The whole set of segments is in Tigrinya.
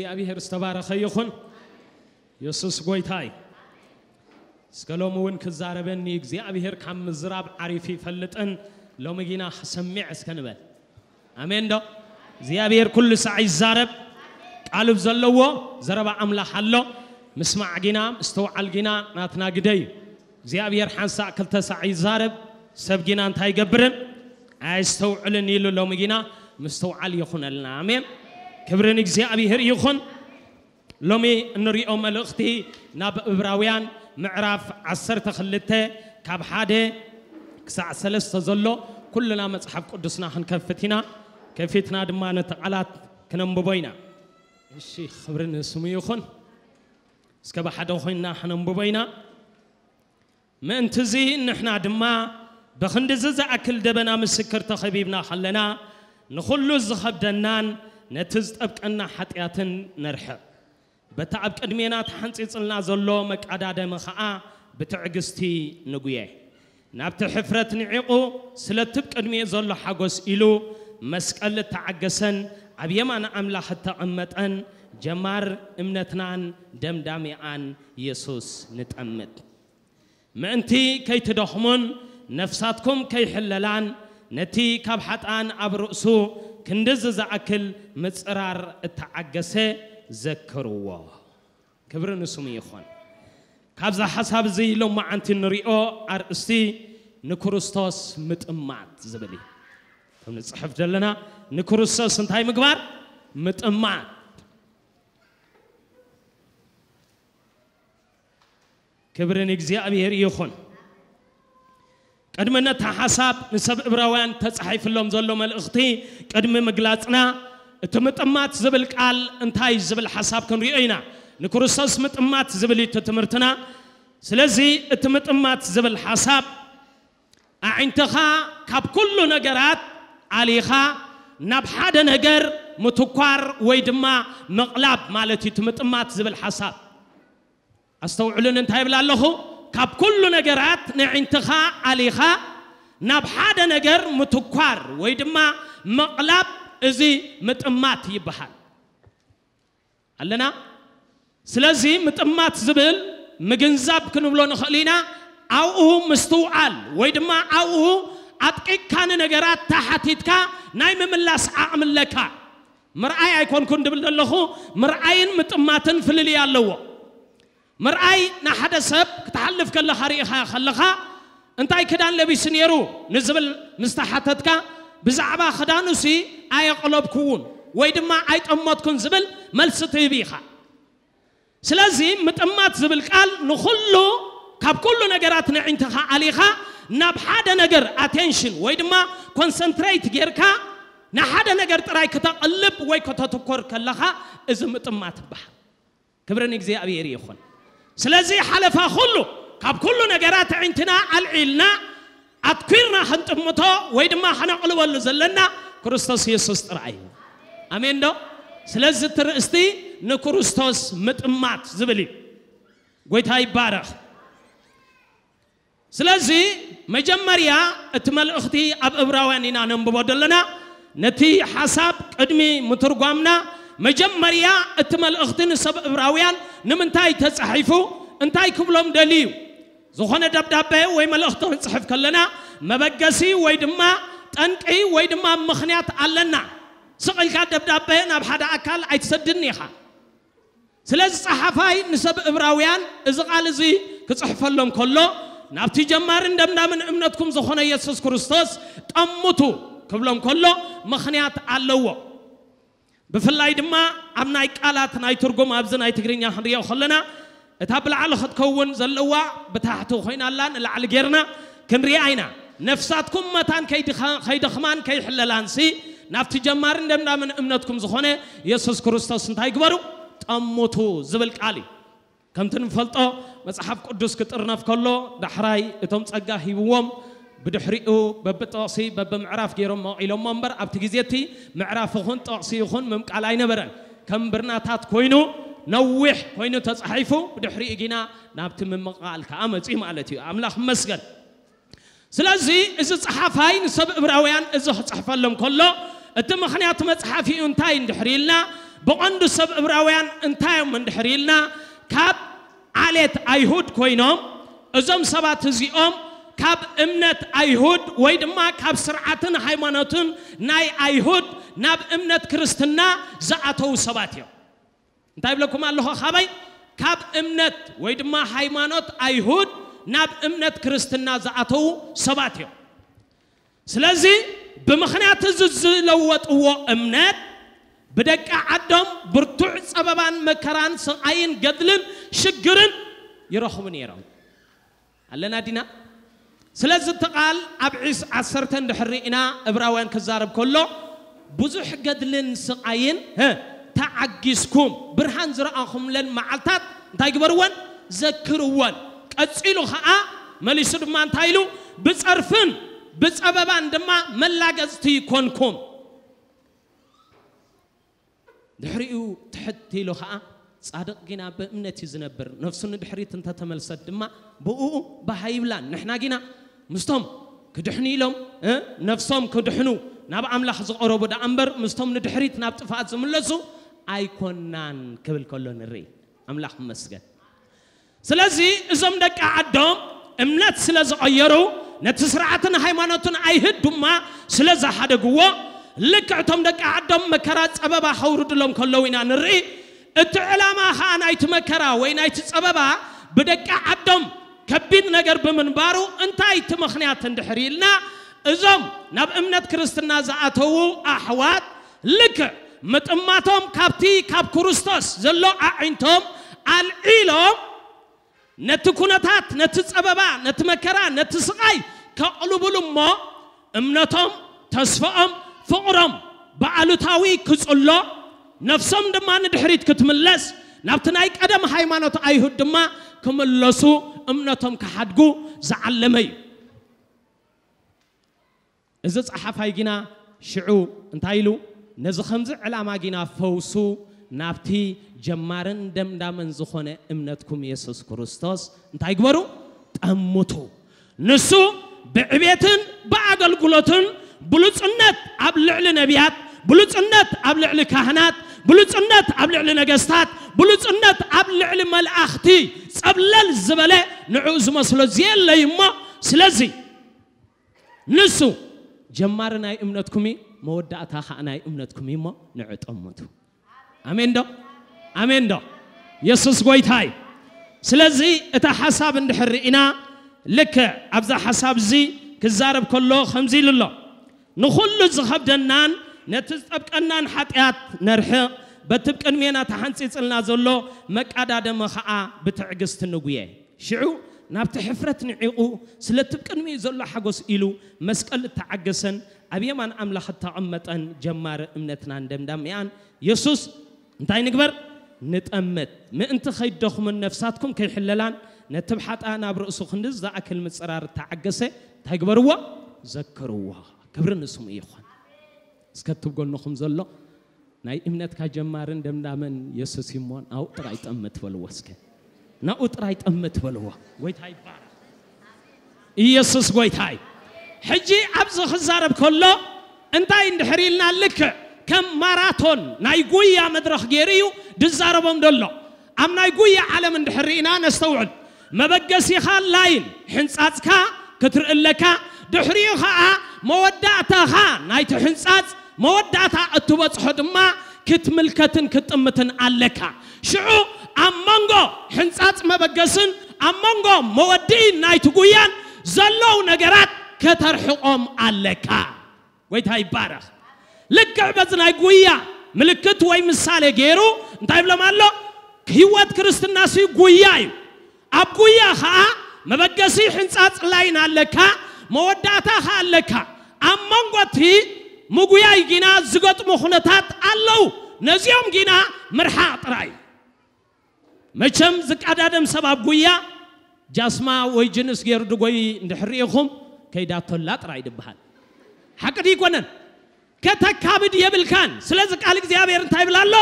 እግዚኣብሔር ዝተባረኸ ይኹን። የሱስ ጎይታ እዩ። እስከ ሎሚ እውን ክዛረበኒ እግዚኣብሔር ካብ ምዝራብ ዓሪፉ ይፈልጥን ሎሚ ግና ክሰሚዕ እስከ ንበል። ኣሜን ዶ? እግዚኣብሔር ኩሉ ሳዕ ይዛረብ። ቃሉ ዘለዎ ዘረባ ኣምላኽ ኣሎ። ምስማዕ ግና ምስትውዓል ግና ናትና ግደ እዩ። እግዚኣብሔር ሓንሳእ ክልተ ሳዕ ይዛረብ፣ ሰብ ግና እንታይ ይገብርን ኣየስተውዕልን ኢሉ ሎሚ ግና ምስትውዓል ይኹነልና። ኣሜን። ክብሪ ንእግዚኣብሔር ይኹን። ሎሚ እንሪኦ መልእኽቲ ናብ እብራውያን ምዕራፍ ዓሰርተ ክልተ ካብ ሓደ ክሳዕ ሰለስተ ዘሎ ኩልና መጽሓፍ ቅዱስና ክንከፍት ኢና። ከፊትና ድማ ነቲ ቃላት ክነንብቦ ኢና። እሺ፣ ክብሪ ንስሙ ይኹን። እስከ ብሓደ ኮይንና ክነንብቦ ኢና። ምእንትዚ ንሕና ድማ ብኽንድዚ ዝኣክል ደበና ምስክር ተኸቢብና ከለና ንኹሉ ዝኸብደናን ነቲ ዝጠብቀና ሓጢኣትን ነርሕቕ። በቲ ኣብ ቅድሜና ተሓንጺጽልና ዘሎ መቃዳደሚ ኸኣ ብትዕግስቲ ንጉየ። ናብቲ ሕፍረት ንዒቑ ስለቲ ብ ቅድሚኡ ዘሎ ሓጎስ ኢሉ መስቀል እተዓገሰን ኣብ የማን ኣምላኽ እተቐመጠን ጀማር እምነትናን ደምዳሚኣን የሱስ ንጠምት። ምእንቲ ከይትደኽሙን ነፍሳትኩም ከይሕለላን ነቲ ካብ ሓጥኣን ኣብ ርእሱ ክንድዚ ዝኣክል ምጽራር እተዓገሰ ዘክርዎ። ክብሪ ንስሙ ይኹን። ካብዛ ሓሳብ እዚ ሎማዓንቲ ንሪኦ ኣርእስቲ ንክርስቶስ ምጥማት ዝብል እዩ። ከም ንጽሕፍ ዘለና ንክርስቶስ እንታይ ምግባር? ምጥማት። ክብሪ ንእግዚኣብሔር ይኹን። ቅድሚ ነታ ሓሳብ ንሰብ እብራውያን ተጻሒፍሎም ዘሎ መልእኽቲ ቅድሚ ምግላጽና እቲ ምጥማት ዝብል ቃል እንታይ ዝብል ሓሳብ ክንሪኦ ኢና። ንክርስቶስ ምጥማት ዝብል እዩ እቲ ትምህርትና። ስለዚ እቲ ምጥማት ዝብል ሓሳብ ኣዒንትኻ ካብ ኩሉ ነገራት ኣሊኻ ናብ ሓደ ነገር ምትኳር ወይ ድማ ምቕላብ ማለት እዩ እቲ ምጥማት ዝብል ሓሳብ። ኣስተውዕሉን እንታይ ይብል ኣለኹ? ካብ ኩሉ ነገራት ንዕንትኻ ኣሊኻ ናብ ሓደ ነገር ምትኳር ወይ ድማ ምቕላብ እዚ ምጥማት ይበሃል። ኣለና? ስለዚ ምጥማት ዝብል ምግንዛብ ክንብሎ ንኽእል ኢና። ኣብኡ ምስትውዓል ወይ ድማ ኣብኡ ኣጥቂቕካ ንነገራት ተሓቲትካ ናይ ምምላስ ዓቕሚ ኣለካ። ምርኣይ ኣይኮንኩን ድብል ዘለኹ፣ ምርኣይን ምጥማትን ፍልልይ ኣለዎ። ምርኣይ ንሓደ ሰብ ክትሓልፍ ከለኻ ርኢኻ ከለኻ እንታይ ክዳን ለቢሱ ነይሩ ንዝብል ምስ ተሓተትካ ብዛዕባ ክዳኑሲ ኣየቕለብኩውን ወይ ድማ ኣይጠመትኩን ዝብል መልሲ ትህብ ኢኻ። ስለዚ ምጥማት ዝብል ቃል ንኹሉ ካብ ኩሉ ነገራት ንዕንትኻ ኣሊኻ ናብ ሓደ ነገር ኣቴንሽን ወይ ድማ ኮንሰንትሬት ጌርካ ንሓደ ነገር ጥራይ ክተቕልብ ወይ ከተትኮር ከለኻ እዚ ምጥማት ይበሃል። ክብሪ ንእግዚኣብሔር ይኹን። ስለዚ ሓለፋ ኩሉ ካብ ኩሉ ነገራት ኣዒንትና ኣልዒልና ኣትኲርና ክንጥምቶ ወይ ድማ ከነቕልበሉ ዘለና ክርስቶስ የሱስ ጥራይ እዩ። ኣሜን ዶ? ስለዚ እቲ ርእስቲ ንክርስቶስ ምጥማት ዝብል እዩ። ጎይታ ይባረኽ። ስለዚ መጀመርያ እቲ መልእኽቲ ኣብ እብራውያን ኢና ነንብቦ ዘለና። ነቲ ሓሳብ ቅድሚ ምትርጓምና መጀመርያ እቲ መልእኽቲ ንሰብ እብራውያን ንምንታይ ተጻሒፉ እንታይ ክብሎም ደልዩ? ዝኾነ ደብዳቤ ወይ መልእኽቲ ክንጽሕፍ ከለና መበገሲ ወይ ድማ ጠንቂ ወይ ድማ ምኽንያት ኣለና። ስቕ ኢልካ ደብዳቤ ናብ ሓደ ኣካል ኣይትሰድን ኢኻ። ስለዚ ጸሓፋይ ንሰብ እብራውያን እዚ ቃል እዚ ክጽሕፈሎም ከሎ ናብቲ ጀማርን ደምዳምን እምነትኩም ዝኾነ የሱስ ክርስቶስ ጠምቱ ክብሎም ከሎ ምኽንያት ኣለዎ። ብፍላይ ድማ ኣብ ናይ ቃላት ናይ ትርጉም ኣብዚ ናይ ትግርኛ ክንሪኦ ከለና እታ ብላዕሊ ክትከውን ዘለዋ ብታሕቲ ኮይና ኣላ ንላዕሊ ጌርና ክንሪኣ ኢና። ነፍሳትኩም መታን ከይድኻ- ከይደኽማን ከይሕለላንሲ ናብቲ ጀማርን ደምዳምን እምነትኩም ዝኾነ የሱስ ክርስቶስ እንታይ ግበሩ? ጠምቱ ዝብል ቃል እዩ። ከምቲ ንፈልጦ መጽሓፍ ቅዱስ ክጥርነፍ ከሎ ዳሕራይ እቶም ጸጋ ሂብዎም ብድሕሪኡ በብጠቕሲ በብምዕራፍ ገይሮም መቒሎሞ እምበር ኣብቲ ግዜ እቲ ምዕራፍ ይኹን ጠቕሲ ይኹን ምምቃል ኣይነበረን። ከም ብርናታት ኮይኑ ነዊሕ ኮይኑ ተጻሒፉ ብድሕሪኡ ግና ናብቲ ምምቓል ከኣ መጺኡ ማለት እዩ። ኣምላኽ ይመስገን። ስለዚ እዚ ጸሓፋይ ንሰብ እብራውያን እዚ ክጽሕፈሎም ከሎ እቲ ምኽንያት መጽሓፊኡ እንታይ እንድሕር ኢልና ብቐንዱ ሰብ እብራውያን እንታይ እዮም እንድሕር ኢልና፣ ካብ ዓሌት ኣይሁድ ኮይኖም፣ እዞም ሰባት እዚኦም ካብ እምነት ኣይሁድ ወይ ድማ ካብ ስርዓትን ሃይማኖትን ናይ ኣይሁድ ናብ እምነት ክርስትና ዝኣተዉ ሰባት እዮም። እንታይ ብለኩም ኣለኹ? ካበይ? ካብ እምነት ወይ ድማ ሃይማኖት ኣይሁድ ናብ እምነት ክርስትና ዝኣተዉ ሰባት እዮም። ስለዚ ብምኽንያት እዚ ዝለወጥዎ እምነት ብደቂ ዓዶም ብርቱዕ ጸበባን መከራን ስቓይን ገድልን ሽግርን ይረኽቡ ነይሮም። ኣለና ዲና? ስለዚ እቲ ቃል ኣብ ዒስ ዓሰርተ እንድሕር ርኢና እብራውያን ክዛረብ ከሎ ብዙሕ ገድልን ስቓይን፣ ህ፣ ተዓጊስኩም ብርሃን ዝረኣኹምለን መዓልታት እንታይ ግበርወን? ዘክርወን። ቀጺሉ ኸኣ መሊሱ ድማ እንታይ ኢሉ? ብጸርፍን ብጸበባን ድማ መላገጽቲ ይኮንኩም። ድሕሪኡ ትሕት ኢሉ ኸኣ ጻድቕ ጊና ብእምነት እዩ ዝነብር፣ ነፍሱ ንድሕሪት እንተተመልሰት ድማ ብእኡ ባህ ኣይብላን። ንሕና ጊና ምስቶም ክድሕኑ ኢሎም፣ እ፣ ነፍሶም ክድሕኑ ናብ ኣምላኽ ዝቐረቡ ደኣ እምበር ምስቶም ንድሕሪት ናብ ጥፍኣት ዝምለሱ ኣይኮናን ክብል ከሎ ንርኢ። ኣምላኽ ይመስገን። ስለዚ እዞም ደቂ ዓዶም እምነት ስለ ዝቐየሩ፣ ነቲ ስርዓትን ሃይማኖትን ኣይሁድ ድማ ስለ ዝሓደግዎ፣ ልክዕ እቶም ደቂ ዓዶም መከራ ጸበባ ከውርድሎም ከለዉ ኢና ንርኢ። እቲ ዕላማ ኸኣ ናይቲ መከራ ወይ ናይቲ ጸበባ ብደቂ ዓዶም ከቢድ ነገር ብምንባሩ፣ እንታይ እቲ ምኽንያት እንድሕር ኢልና፣ እዞም ናብ እምነት ክርስትና ዝኣተዉ ኣሕዋት ልክዕ ምጥማቶም ካብቲ ካብ ክርስቶስ ዘሎ ኣዒንቶም ኣልዒሎም ነቲ ኩነታት፣ ነቲ ጸበባ፣ ነቲ መከራ፣ ነቲ ስቓይ ከቕልቡሉ እሞ እምነቶም፣ ተስፋኦም፣ ፍቕሮም ብኣሉታዊ ክጽሎ፣ ነፍሶም ድማ ንድሕሪት ክትምለስ፣ ናብቲ ናይ ቀደም ሃይማኖት ኣይሁድ ድማ ክምለሱ፣ እምነቶም ክሓድጉ ዝዓለመ እዩ። እዚ ጸሓፋይ ጊና ሽዑ እንታይ ኢሉ? ነዚ ከምዚ ዕላማ ጊና ፈውሱ ናብቲ ጀማርን ደምዳምን ዝኾነ እምነትኩም የሱስ ክርስቶስ እንታይ ግበሩ? ጠምቱ። ንሱ ብዕቤትን ብኣገልግሎትን ብሉጽነት ኣብ ልዕሊ ነቢያት፣ ብሉጽነት ኣብ ልዕሊ ካህናት፣ ብሉጽነት ኣብ ልዕሊ ነገስታት፣ ብሉጽነት ኣብ ልዕሊ መላእኽቲ ጸብለል ዝበለ ንዕኡ ዝመስሎ ዘየለ እዩ እሞ፣ ስለዚ ንሱ ጀማሪ ናይ እምነትኩም እዩ፣ መወዳእታ ኸዓ ናይ እምነትኩም እዩ እሞ ንዑ ጠምቱ። ኣሜን ዶ? ኣሜን ዶ? የሱስ ጎይታ እዩ። ስለዚ እታ ሓሳብ እንድሕር ርኢና፣ ልክዕ ኣብዛ ሓሳብ እዚ ክዛረብ ከሎ ከምዚ ኢሉ ኣሎ። ንኹሉ ዝኸብደናን ነቲ ዝጠብቀናን ሓጢኣት ነርሕቕ፣ በቲ ብቅድሜና ተሓንጺጽልና ዘሎ መቃዳደሚ ኸዓ ብትዕግስቲ ንጉየ። ሽዑ ናብቲ ሕፍረት ንዒቑ፣ ስለቲ ብቅድሚኡ ዘሎ ሓጎስ ኢሉ መስቀል እተዓገሰን ኣብ የማን ኣምላኽ እተቐመጠን ጀማሪ እምነትናን ደምዳሚኣን የሱስ እንታይ ንግበር? ንጠምት። ምእንቲ ከይደኽሙን ነፍሳትኩም ከይሕለላን ነቲ ብሓጥኣን ኣብ ርእሱ ክንድዚ ዝኣክል ምጽራር እተዓገሰ እንታይ ግበርዎ? ዘክርዎ። ክብሪ ንስሙ ይኹን። እስከ እቲ ብጎንኹም ዘሎ ናይ እምነትካ ጀማርን ደምዳምን የሱስ እዩ እሞ ናብኡ ጥራይ ጠምት በልዎ እስከ። ናብኡ ጥራይ ጠምት በልዎ። ጎይታ ይባረክ። ኢየሱስ ጎይታ እዩ። ሕጂ ኣብዚ ክዛረብ ከሎ እንታይ እንድሕር ኢልና ልክዕ ከም ማራቶን ናይ ጉያ መድረኽ ገይሩ እዩ ድዛረቦም ዘሎ። ኣብ ናይ ጉያ ዓለም እንድሕር ርኢና ነስተውዕል። መበገሲኻ ላይን ሕንጻጽካ ክትርኢ ኣለካ። ድሕሪኡ ኸኣ መወዳእታኻ ናይቲ ሕንጻጽ መወዳእታ እትበጽሖ ድማ ክትምልከትን ክትጥምትን ኣለካ። ሽዑ ኣብ መንጎ ሕንጻጽ መበገስን ኣብ መንጎ መወድኢ ናይቲ ጉያን ዘለዉ ነገራት ከተርሕቖም ኣለካ። ጎይታ ይባረኽ። ልክዕ በዚ ናይ ጉያ ምልክት ወይ ምሳሌ ገይሩ እንታይ ይብሎም ኣሎ? ህይወት ክርስትናሲ ጉያ እዩ። ኣብ ጉያ ኸዓ መበገሲ ሕንጻጽ ላይን ኣለካ፣ መወዳእታ ኸዓ ኣለካ። ኣብ መንጎ እቲ ምጉያይ ጊና ዝገጥሙ ኩነታት ኣለዉ። ነዚኦም ጊና ምርሓቕ ጥራይ። መቸም ዝቀዳደም ሰብ ኣብ ጉያ ጃስማ ወይ ጅንስ ገይሩ ድጎይ እንድሕር ርኢኹም ከይዳቶላ ጥራይ ድበሃል። ሓቂ ድዩ ይኮነን? ከተካብድ የብልካን። ስለዚ ቃል እግዚኣብሔር እንታይ ይብል ኣሎ?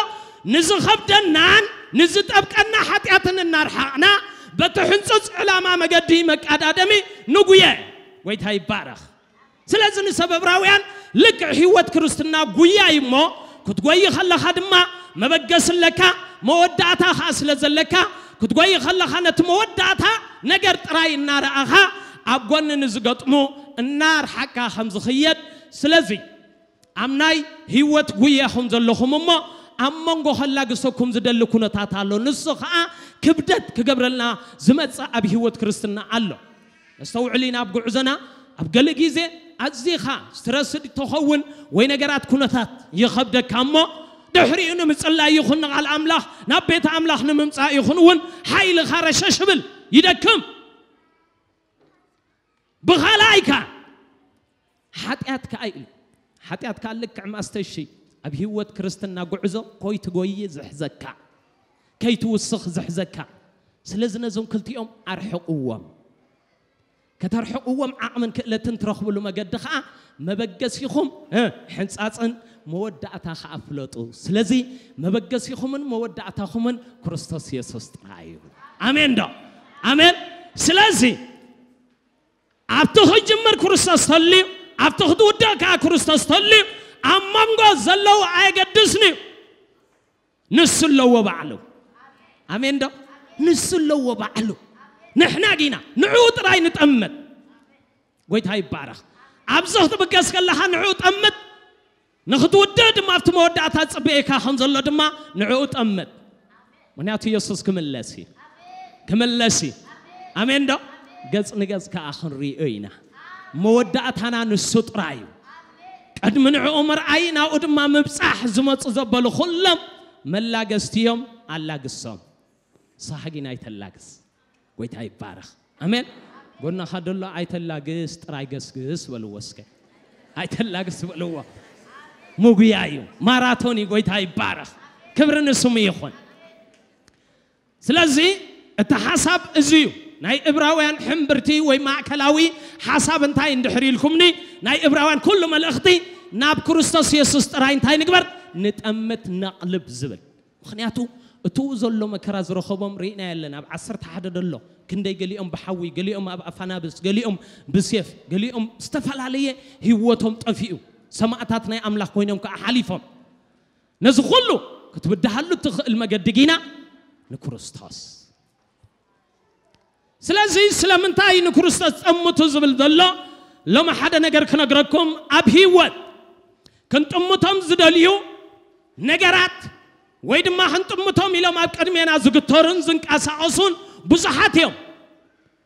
ንዝኸብደናን ንዝጠብቀና ሓጢኣትን እናርሓቕና በቲ ሕንጹጽ ዕላማ መገዲ መቃዳደሚ ንጉየ። ጎይታ ይባረኽ። ስለዚ ንሰብ ዕብራውያን ልክዕ ህይወት ክርስትና ጉያ እዩ እሞ ክትጎይ ከለኻ ድማ መበገሲ ኣለካ፣ መወዳእታ ኸዓ ስለ ዘለካ ክትጎይ ከለኻ ነቲ መወዳእታ ነገር ጥራይ እናረኣኻ ኣብ ጎኒ ንዝገጥሙ እናርሓቅካ ከም ዝኽየድ። ስለዚ ኣብ ናይ ህይወት ጉያ ኹም ዘለኹም እሞ ኣብ መንጎ ከላግሰኩም ዝደሊ ኩነታት ኣሎ። ንሱ ኸዓ ክብደት ክገብረልና ዝመጽእ ኣብ ህይወት ክርስትና ኣሎ። ነስተውዕል ኢና ኣብ ጉዕዞና። ኣብ ገለ ግዜ ኣዚኻ ስትረስድ ተኸውን ወይ ነገራት ኩነታት ይኸብደካ እሞ ድሕሪኡ ንምጽላይ ይኹን ንቓል ኣምላኽ ናብ ቤት ኣምላኽ ንምምጻእ ይኹን እውን ሓይልኻ ረሸሽ ብል ይደክም። ብኻልኣይካ ሓጢኣት ከኣ ኢሉ ሓጢኣት ከኣ ልክዕ ማስተሺ ኣብ ህይወት ክርስትና ጉዕዞ ኮይትጎይ ዝሕዘካ ከይትውስኽ ዝሕዘካ። ስለዚ ነዞም ክልቲኦም ኣርሕቕዎም። ከተርሕቕዎም ዓቕምን ክእለትን ትረኽብሉ መገዲ ኸዓ መበገሲኹም እ፣ ሕንጻጽን መወዳእታ ኸዓ ፍለጡ። ስለዚ መበገሲኹምን መወዳእታኹምን ክርስቶስ የሱስ ጥራይ እዩ። ኣሜን ዶ? ኣሜን። ስለዚ ኣብቲ ክጅምር ክርስቶስ ተልዩ፣ ኣብቲ ክትውዳእ ከኣ ክርስቶስ ተልዩ፣ ኣብ መንጎ ዘለዉ ኣየገድስን እዩ። ንሱ ኣለዎ ባዕሉ። ኣሜን ዶ? ንሱ ኣለዎ ባዕሉ። ንሕና ዲና ንዕኡ ጥራይ ንጠምት። ጎይታ ይባረኽ። ኣብዚ ክትብገስ ከለኻ ንዕኡ ጠምት። ንኽትውድእ ድማ ኣብቲ መወዳእታ ዝጽበየካ ከም ዘሎ ድማ ንዕኡ ጠምት። ምኽንያቱ የሱስ ክምለስ እዩ። ክምለስ እዩ። ኣሜን ዶ? ገጽ ንገጽ ከኣ ክንሪኦ ኢና። መወዳእታና ንሱ ጥራይ እዩ። ቅድሚ ንዕኡ ምርኣይ ናብኡ ድማ ምብጻሕ ዝመጹ ዘበሉ ኩሎም መላገስቲ እዮም። ኣላግሶም። ንስኻ ግን ኣይተላግስ። ጎይታ ይባረኽ። ኣሜን። ጎናኻ ደሎ ኣይተላግስ ጥራይ ገስግስ በልዎ እስከ። ኣይተላግስ በልዎ። ምጉያ እዩ። ማራቶን እዩ። ጎይታ ይባረኽ። ክብሪ ንስሙ ይኹን። ስለዚ እቲ ሓሳብ እዚ እዩ። ናይ እብራውያን ሕምብርቲ ወይ ማእከላዊ ሓሳብ እንታይ እንድሕር ኢልኩምኒ፣ ናይ እብራውያን ኩሉ መልእኽቲ ናብ ክርስቶስ የሱስ ጥራይ እንታይ ንግበር? ንጠምት ነቕልብ ዝብል። ምኽንያቱ እቱ ዘሎ መከራ ዝረኸቦም ርኢና የለን። ኣብ ዓሰርተ ሓደ ደሎ ክንደይ ገሊኦም ብሓዊ፣ ገሊኦም ኣብ ኣፋናብስ፣ ገሊኦም ብሴፍ፣ ገሊኦም ዝተፈላለየ ህይወቶም ጠፊኡ። ሰማእታት ናይ ኣምላኽ ኮይኖም ከዓ ሓሊፎም። ነዚ ኩሉ ክትብድሃሉ እትኽእል መገዲ ጊና ንክርስቶስ። ስለዚ ስለምንታይ ንክርስቶስ ጠምቱ ዝብል ዘሎ ሎሚ ሓደ ነገር ክነግረኩም። ኣብ ህይወት ክንጥምቶም ዝደልዩ ነገራት ወይ ድማ ክንጥምቶም ኢሎም ኣብ ቅድሜና ዝግተሩን ዝንቀሳቐሱን ብዙሓት እዮም።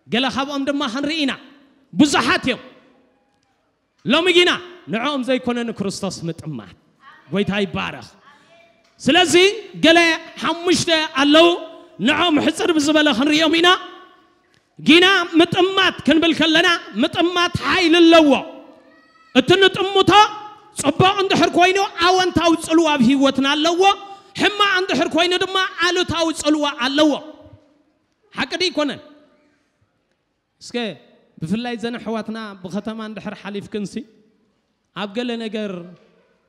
ገለ ካብኦም ድማ ክንርኢ ኢና። ብዙሓት እዮም። ሎሚ ግና ንዕኦም ዘይኮነ ንክርስቶስ ምጥማት። ጎይታ ይባረኽ። ስለዚ ገለ ሓሙሽተ ኣለዉ። ንዕኦም ሕፅር ብዝበለ ክንሪኦም ኢና። ጊና ምጥማት ክንብል ከለና ምጥማት ሓይሊ ኣለዎ። እቲ ንጥምቶ ፅቡቕ እንድሕር ኮይኑ ኣወንታዊ ፅልዋ ኣብ ህይወትና ኣለዎ። ሕማቕ እንድሕር ኮይኑ ድማ ኣሉታዊ ፅልዋ ኣለዎ። ሓቂ ድዩ ኣይኮነን? እስከ ብፍላይ ዘን ኣሕዋትና ብኸተማ እንድሕር ሓሊፍክንሲ ኣብ ገለ ነገር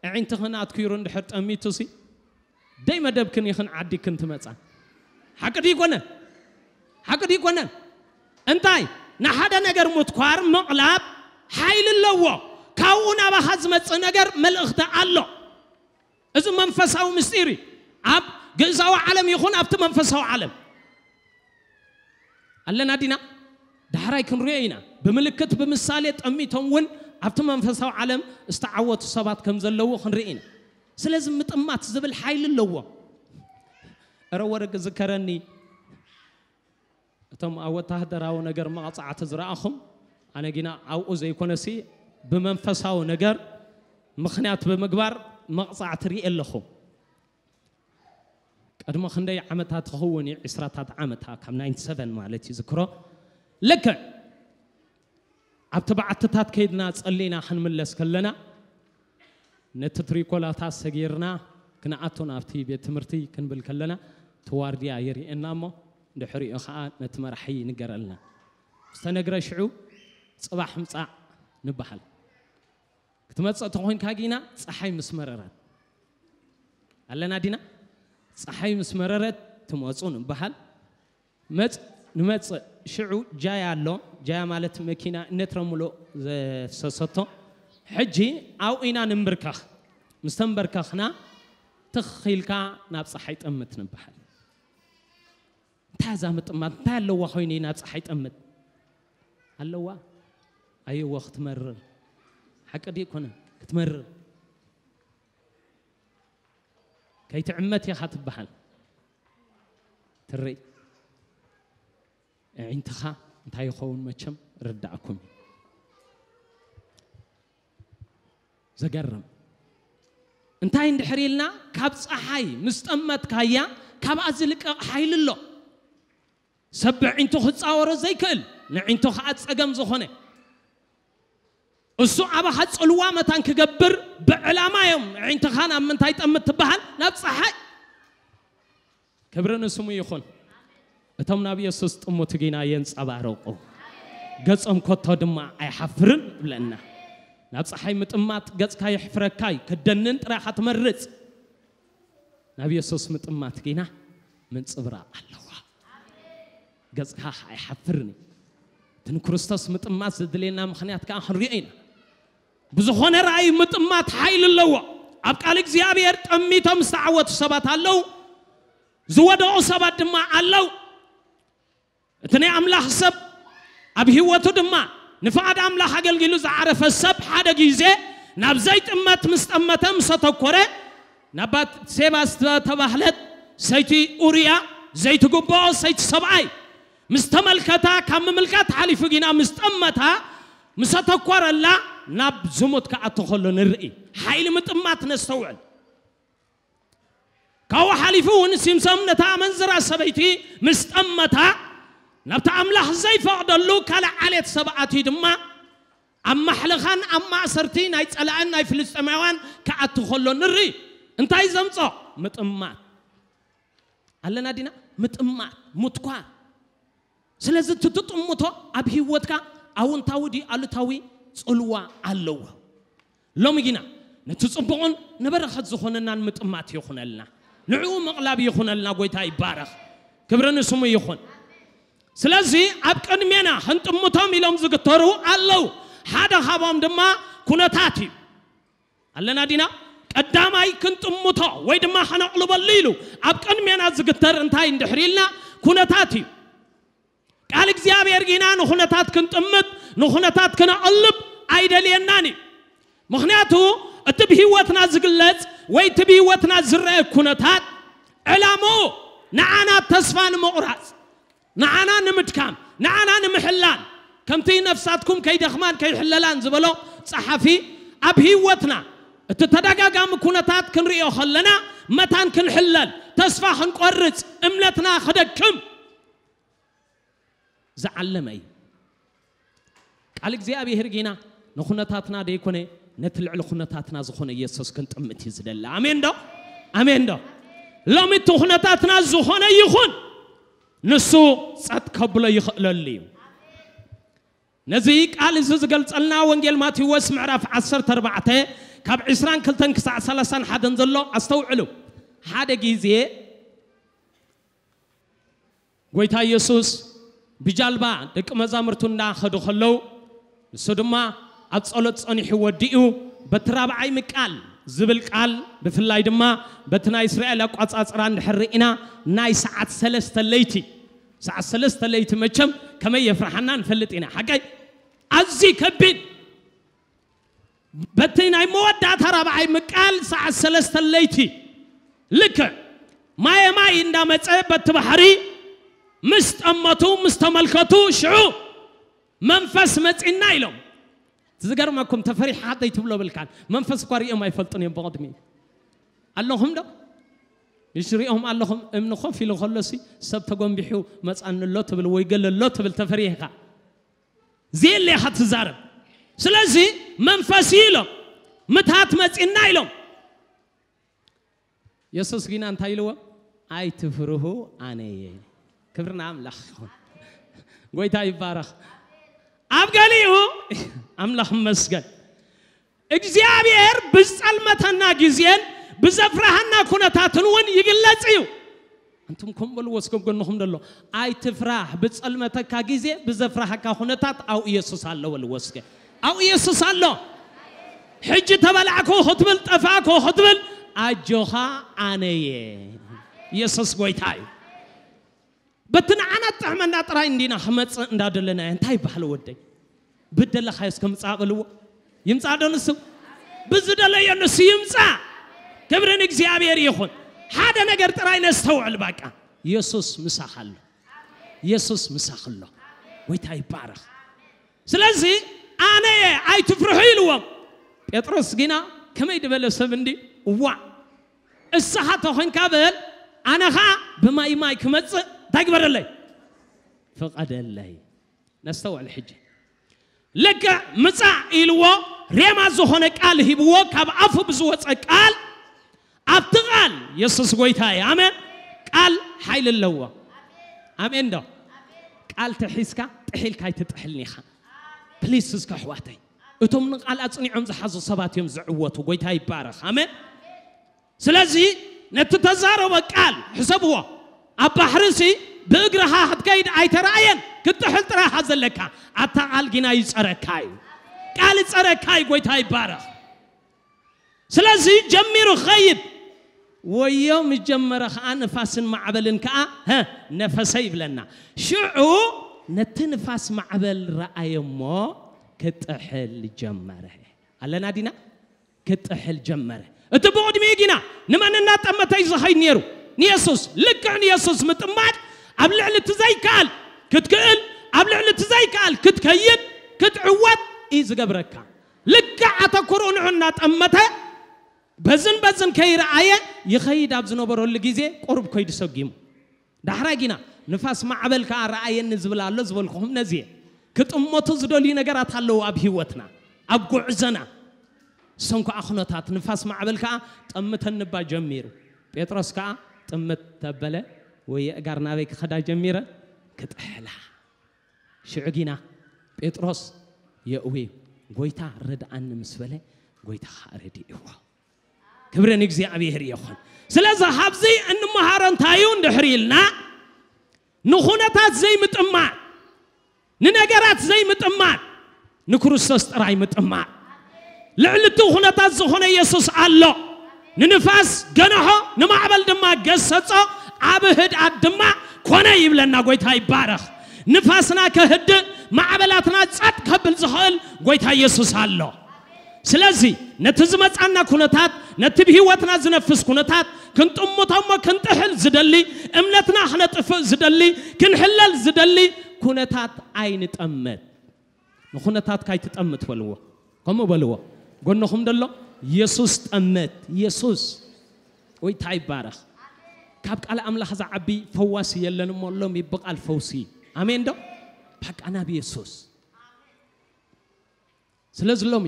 ኣዒንትኽን ኣትኲሩ እንድሕር ጠሚቱሲ ደይ መደብክን ኢኽን ዓዲክን ትመጻ። ሓቂ ድዩ ኣይኮነን? ሓቂ ድዩ ኣይኮነን? እንታይ ንሓደ ነገር ምትኳር ምቕላብ ሓይሊ ኣለዎ። ካብኡ ናባኻ ዝመጽእ ነገር መልእኽቲ ኣሎ። እዚ መንፈሳዊ ምስጢር እዩ። ኣብ ግእዛዊ ዓለም ይኹን ኣብቲ መንፈሳዊ ዓለም ኣለና ዲና? ዳሕራይ ክንሪኦ ኢና። ብምልክት ብምሳሌ ጠሚቶም እውን ኣብቲ መንፈሳዊ ዓለም ዝተዓወቱ ሰባት ከም ዘለዉ ክንርኢ ኢና። ስለዚ ምጥማት ዝብል ሓይሊ ኣለዎ። እረ ወረ ዝከረኒ እቶም ኣብ ወታሃደራዊ ነገር መቕጻዕቲ ዝረኣኹም፣ ኣነ ጊና ኣብኡ ዘይኮነሲ ብመንፈሳዊ ነገር ምኽንያት ብምግባር መቕጻዕቲ ርኢ ኣለኹ። ቅድሚ ክንደይ ዓመታት ክኸውን እዩ? ዕስራታት ዓመታ ካብ ናይንቲ ሰቨን ማለት እዩ ዝክሮ። ልክዕ ኣብቲ በዓትታት ከይድና ጸሊና ክንምለስ ከለና ነቲ ትሪኮላታት ሰጊርና ክንኣቱ ናብቲ ቤት ትምህርቲ ክንብል ከለና እቲ ዋርድያ የርእየና እሞ ድሕሪኡ ኸዓ ነቲ መራሒ ይንገረልና። ዝተነግረ ሽዑ ጽባሕ ምጻእ ንበሃል። ክትመጽእ ተኾይንካ ጊና ጸሓይ ምስ መረረት ኣለና ዲና? ጸሓይ ምስ መረረት ትመጹ ንበሃል። መጽ ንመጽእ ሽዑ ጃያ ኣሎ። ጃያ ማለት መኪና እነትረምሎ ዘፍሰሰቶ። ሕጂ ኣብኡ ኢና ንንብርከኽ። ምስ ተንበርከኽና ትኽ ኢልካ ናብ ፀሓይ ጠምት ንበሃል። እንታይ እዛ ምጥማት? እንታይ ኣለዋ ኮይኑ ናብ ፀሓይ ጠምት? ኣለዋ። ኣየወ ክትመርር። ሓቂ ድዩ ኣይኮነን? ክትመርር። ከይትዕመት ኢኻ ትበሃል። ትርኢ። ኣዒንትኻ እንታይ ይኸውን መቸም ርዳእኩም እዩ። ዘገርም። እንታይ እንድሕር ኢልና፣ ካብ ፀሓይ ምስ ጠመትካያ፣ ካብኣ ዝልቀቕ ሓይሊ ኣሎ። ሰብ ብዕንቱ ክፃወሮ ዘይክእል፣ ንዕንቱ ከዓ ፀገም ዝኾነ፣ እሱ ኣባኻ ፅልዋ መታን ክገብር ብዕላማ እዮም። ዕንትኻ ናብ ምንታይ ጠምት ትበሃል? ናብ ፀሓይ። ክብሪ ንስሙ ይኹን። እቶም ናብ የሱስ ጥሙት ግና የንጸባርቑ፣ ገጾም ኮቶ ድማ ኣይሓፍርን ይብለና። ናብ ጸሓይ ምጥማት ገጽካ የሕፍረካ እዩ፣ ክትደንን ጥራይ ኢኻ ትመርጽ። ናብ የሱስ ምጥማት ግና ምንጽብራቕ ኣለዋ። ገጽካ ኣይሓፍርን እዩ። እቲ ንክርስቶስ ምጥማት ዘድልየና ምኽንያት ከኣ ክንሪኦ ኢና። ብዝኾነ ራእይ ምጥማት ሓይሊ ኣለዎ። ኣብ ቃል እግዚኣብሔር ጠሚቶም ዝተዓወቱ ሰባት ኣለዉ፣ ዝወደቑ ሰባት ድማ ኣለዉ። እቲ ናይ ኣምላኽ ሰብ ኣብ ህይወቱ ድማ ንፍቓድ ኣምላኽ ኣገልጊሉ ዝዓረፈ ሰብ ሓደ ግዜ ናብ ዘይጥመት ምስ ጠመተ፣ ምስ ኣተኮረ፣ ናብ ባትሴባ ዝተባህለት ሰይቲ ኡርያ ዘይትግብኦ ሰይቲ ሰብኣይ ምስ ተመልከታ፣ ካብ ምምልካት ሓሊፉ ግና ምስ ጠመታ፣ ምስ ኣተኮረላ፣ ናብ ዝሙት ክኣቱ ከሎ ንርኢ። ሓይሊ ምጥማት ነስተውዕል። ካብኡ ሓሊፉ እውን ሲምሶም ነታ ኣመንዝራ ሰበይቲ ምስ ጠመታ፣ ናብቲ ኣምላኽ ዘይፈቕደሉ ካልእ ዓሌት ሰብ ኣትዩ ድማ ኣብ ማሕለኻን ኣብ ማእሰርቲ ናይ ጸላእን ናይ ፍልስጤማውያን ክኣቱ ከሎ ንርኢ። እንታይ ዘምጾ? ምጥማት። ኣለና ዲና? ምጥማት፣ ምትኳር። ስለዚ እቲ ትጥምቶ ኣብ ህይወትካ ኣውንታዊ ድዩ ኣሉታዊ ጽልዋ ኣለዎ። ሎሚ ግና ነቲ ጽቡቕን ንበረኸት ዝኾነናን ምጥማት ይኹነልና። ንዕኡ ምቕላብ ይኹነልና። ጎይታ ይባረኽ። ክብሪ ንስሙ ይኹን። ስለዚ ኣብ ቅድሜና ክንጥምቶም ኢሎም ዝግተሩ ኣለዉ። ሓደ ካብኦም ድማ ኩነታት እዩ። ኣለና ዲና? ቀዳማይ ክንጥምቶ ወይ ድማ ከነቕልበሉ ኢሉ ኣብ ቅድሜና ዝግተር እንታይ እንድሕር ኢልና፣ ኩነታት እዩ። ቃል እግዚኣብሔር ግና ንኹነታት ክንጥምት፣ ንኹነታት ክነቕልብ ኣይደልየናን እዩ። ምኽንያቱ እቲ ብህይወትና ዝግለጽ ወይ እቲ ብህይወትና ዝረአ ኩነታት ዕላምኡ ንዓና ተስፋ ንምቑራጽ፣ ንዓና ንምድካም፣ ንዓና ንምሕላል፣ ከምቲ ነፍሳትኩም ከይደኽማን ከይሕለላን ዝበሎ ጸሓፊ፣ ኣብ ህይወትና እቲ ተደጋጋሚ ኩነታት ክንርእዮ ከለና መታን ክንሕለል፣ ተስፋ ክንቆርጽ፣ እምነትና ክደክም ዝዓለመ እዩ። ቃል እግዚኣብሔር ግና ንኹነታትና ደይኮነ፣ ነቲ ልዕሊ ኩነታትና ዝኾነ ኢየሱስ ክንጥምት እዩ ዝደሊ። ኣሜን ዶ? ኣሜን ዶ? ሎሚ እቲ ኩነታትና ዝኾነ ይኹን፣ ንሱ ጸጥ ከብሎ ይኽእለሉ እዩ። ነዚ ቃል እዚ ዝገልጸልና ወንጌል ማቴዎስ ምዕራፍ ዓሰርተ ኣርባዕተ ካብ ዕስራን ክልተን ክሳዕ ሰላሳን ሓደን ዘሎ ኣስተውዕሉ። ሓደ ግዜ ጎይታ ኢየሱስ ብጃልባ ደቂ መዛሙርቱ እንዳኸዱ ከለዉ፣ ንሱ ድማ ኣብ ጸሎት ጸኒሑ ወዲኡ፣ በቲ ራብዓይ ምቃል ዝብል ቃል፣ ብፍላይ ድማ በቲ ናይ እስራኤል ኣቋጻጽራ እንድሕር ርኢና፣ ናይ ሰዓት ሰለስተ ለይቲ፣ ሰዓት ሰለስተ ለይቲ መቸም ከመይ የፍርሓና ንፈልጥ ኢና። ሓቀይ ኣዝዩ ከቢድ በቲ ናይ መወዳእታ ራብዓይ ምቃል ሰዓት ሰለስተ ለይቲ ልክዕ ማየ ማይ እንዳመጸ በቲ ባሕሪ ምስ ጠመቱ፣ ምስ ተመልከቱ፣ ሽዑ መንፈስ መጺና ኢሎም። እቲ ዝገርመኩም ተፈሪሓ ዘይትብሎ ብልካን መንፈስ እኳ ሪኦም ኣይፈልጡን እዮም ብቕድሚ። ኣለኹም ዶ? እሺ ሪኦም ኣለኹም። እምኒ ኮፍ ኢሉ ከሎሲ ሰብ ተጎንቢሑ መጻኒ ኣሎ ትብል ወይ ገለ ኣሎ ትብል ተፈሪሕካ። ዘየለ ኢኻ ትዛረብ። ስለዚ መንፈስ እዩ ኢሎም፣ ምትሃት መጺና ኢሎም። የሱስ ግና እንታይ ኢልዎም? ኣይትፍርሁ፣ ኣነ እየ። ክብሪ ንኣምላኽ ይኹን። ጎይታ ይባረኽ። ኣብ ገሊኡ ኣምላኽ ይመስገን። እግዚኣብሔር ብዝጸልመተና ግዜን ብዘፍርሃና ኩነታትን እውን ይግለጽ እዩ። ኣንቱም ከም በልዎ እስከ ጎንኹም ደሎ፣ ኣይትፍራህ፣ ብጸልመተካ ግዜ ብዘፍርሃካ ኩነታት ኣብኡ ኢየሱስ ኣሎ በልዎ እስከ። ኣብኡ ኢየሱስ ኣሎ። ሕጂ ተበላዕኩ ክትብል፣ ጠፋእኩ ክትብል፣ ኣጆኻ ኣነየ። ኢየሱስ ጎይታ እዩ። በቲ ንዓና ጥዕመና ጥራይ እንዲና ክመጽእ እንዳደለናዮ እንታይ ይበሃል ወደይ? ብደለኻዮስ ከምጻእ በልዎ። ይምጻእ ዶ ንሱ? ብዝደለዮ ንሱ ይምጻእ። ክብሪ ንእግዚኣብሔር ይኹን። ሓደ ነገር ጥራይ ነስተውዕል። በቃ ኢየሱስ ምሳኻ ኣሎ። ኢየሱስ ምሳኽ ኣሎ። ጎይታ ይባረኽ። ስለዚ ኣነ እየ ኣይትፍርሑ ኢልዎም። ጴጥሮስ ግና ከመይ ዝበለ ሰብ እንዲ እዋ እስኻ ተኾንካ በል ኣነ ኸዓ ብማይ ማይ ክመጽእ እንታይ ግበረለይ? ፍቐደለይ። ነስተውዕል ሕጂ። ልክዕ ምጻእ ኢልዎ ሬማ ዝኾነ ቃል ሂብዎ ካብ ኣፉ ብዝወፀ ቃል ኣብቲ ቃል የሱስ ጎይታ እዩ። ኣሜን። ቃል ሓይሊ ኣለዎ። ኣሜን ዶ? ቃል ተሒዝካ ጥሒልካ ኣይትጥሕልን ኢኻ። ፕሊስ እስከ ኣሕዋተይ እቶም ንቃል ኣጽኒዖም ዝሓዙ ሰባት እዮም ዝዕወቱ። ጎይታ ይባረኽ። ኣሜን። ስለዚ ነቲ ተዛረቦ ቃል ሕሰብዎ። ኣብ ባሕርሲ ብእግርኻ ክትከይድ ኣይተረኣየን፣ ክትጥሕል ጥራኻ ዘለካ። ኣታ ቃል ጊና ይጸረካ እዩ። ቃል ይጸረካ እዩ። ጎይታ ይባረኽ። ስለዚ ጀሚሩ ክኸይድ ወዮ ምስ ጀመረ ኸዓ ንፋስን ማዕበልን ከኣ ነፈሰ ይብለና። ሽዑ ነቲ ንፋስ ማዕበል ረኣየ እሞ ክጥሕል ጀመረ። ኣለና ዲና? ክጥሕል ጀመረ። እቲ ብቕድሚኡ ግና ንመን እናጠመተ እዩ ዝኸይድ ነይሩ? ንየሱስ። ልክዕ ንየሱስ ምጥማት ኣብ ልዕሊ እቲ ዘይከኣል ክትክእል፣ ኣብ ልዕሊ እቲ ዘይከኣል ክትከይድ፣ ክትዕወት እዩ ዝገብረካ። ልክዕ ኣተኩርኡ ንዑ እናጠመተ በዝን በዝን ከይረኣየ ይኸይድ ኣብ ዝነበረሉ ግዜ ቁሩብ ከይዱ ሰጊሙ። ዳሕራይ ጊና ንፋስ ማዕበል ከኣ ረኣየኒ ዝብል ኣሎ ዝበልኩኹም ነዚ እየ። ክጥመቱ ዝደልዩ ነገራት ኣለዉ ኣብ ህይወትና፣ ኣብ ጉዕዞና። እሶም ከኣ ኩነታት ንፋስ ማዕበል ከኣ ጠምተኒ እባ ጀሚሩ። ጴጥሮስ ከኣ ጥምት ተበለ ወይ የእጋር ናበይ ክኸዳ ጀሚረ? ክጥሕላ። ሽዑ ጊና ጴጥሮስ የእዊ ጎይታ ርድኣኒ ምስ በለ ጎይታ ከኣ ረድእዎ። ክብሪ ንእግዚኣብሔር ይኹን። ስለዚ ካብዚ እንመሃሮ እንታይ እዩ እንድሕር ኢልና ንኹነታት ዘይምጥማር፣ ንነገራት ዘይምጥማር፣ ንክርስቶስ ጥራይ ምጥማር። ልዕሊ እቲ ኩነታት ዝኾነ የሱስ ኣሎ። ንንፋስ ገንሖ፣ ንማዕበል ድማ ገሰጾ፣ ዓቢ ህድኣት ድማ ኮነ ይብለና። ጎይታ ይባረኽ። ንፋስና ከህድእ፣ ማዕበላትና ጸጥ ከብል ዝኽእል ጎይታ የሱስ ኣሎ። ስለዚ ነቲ ዝመጻና ኩነታት፣ ነቲ ብህይወትና ዝነፍስ ኩነታት ክንጥምቶ እሞ ክንጥሕል ዝደሊ፣ እምነትና ክነጥፍእ ዝደሊ፣ ክንሕለል ዝደሊ ኩነታት ኣይንጠምት። ንኹነታትካ ኣይትጠምት በልዎ። ከምኡ በልዎ። ጎንኹም ደሎ የሱስ ጠምት። የሱስ ጎይታ ይባረኽ። ካብ ቃል ኣምላኽ ዝዓቢ ፈዋሲ የለን እሞ ሎሚ ብቓል ፈውሲ። ኣሜን ዶ? በቃ ናብ የሱስ። ስለዚ ሎሚ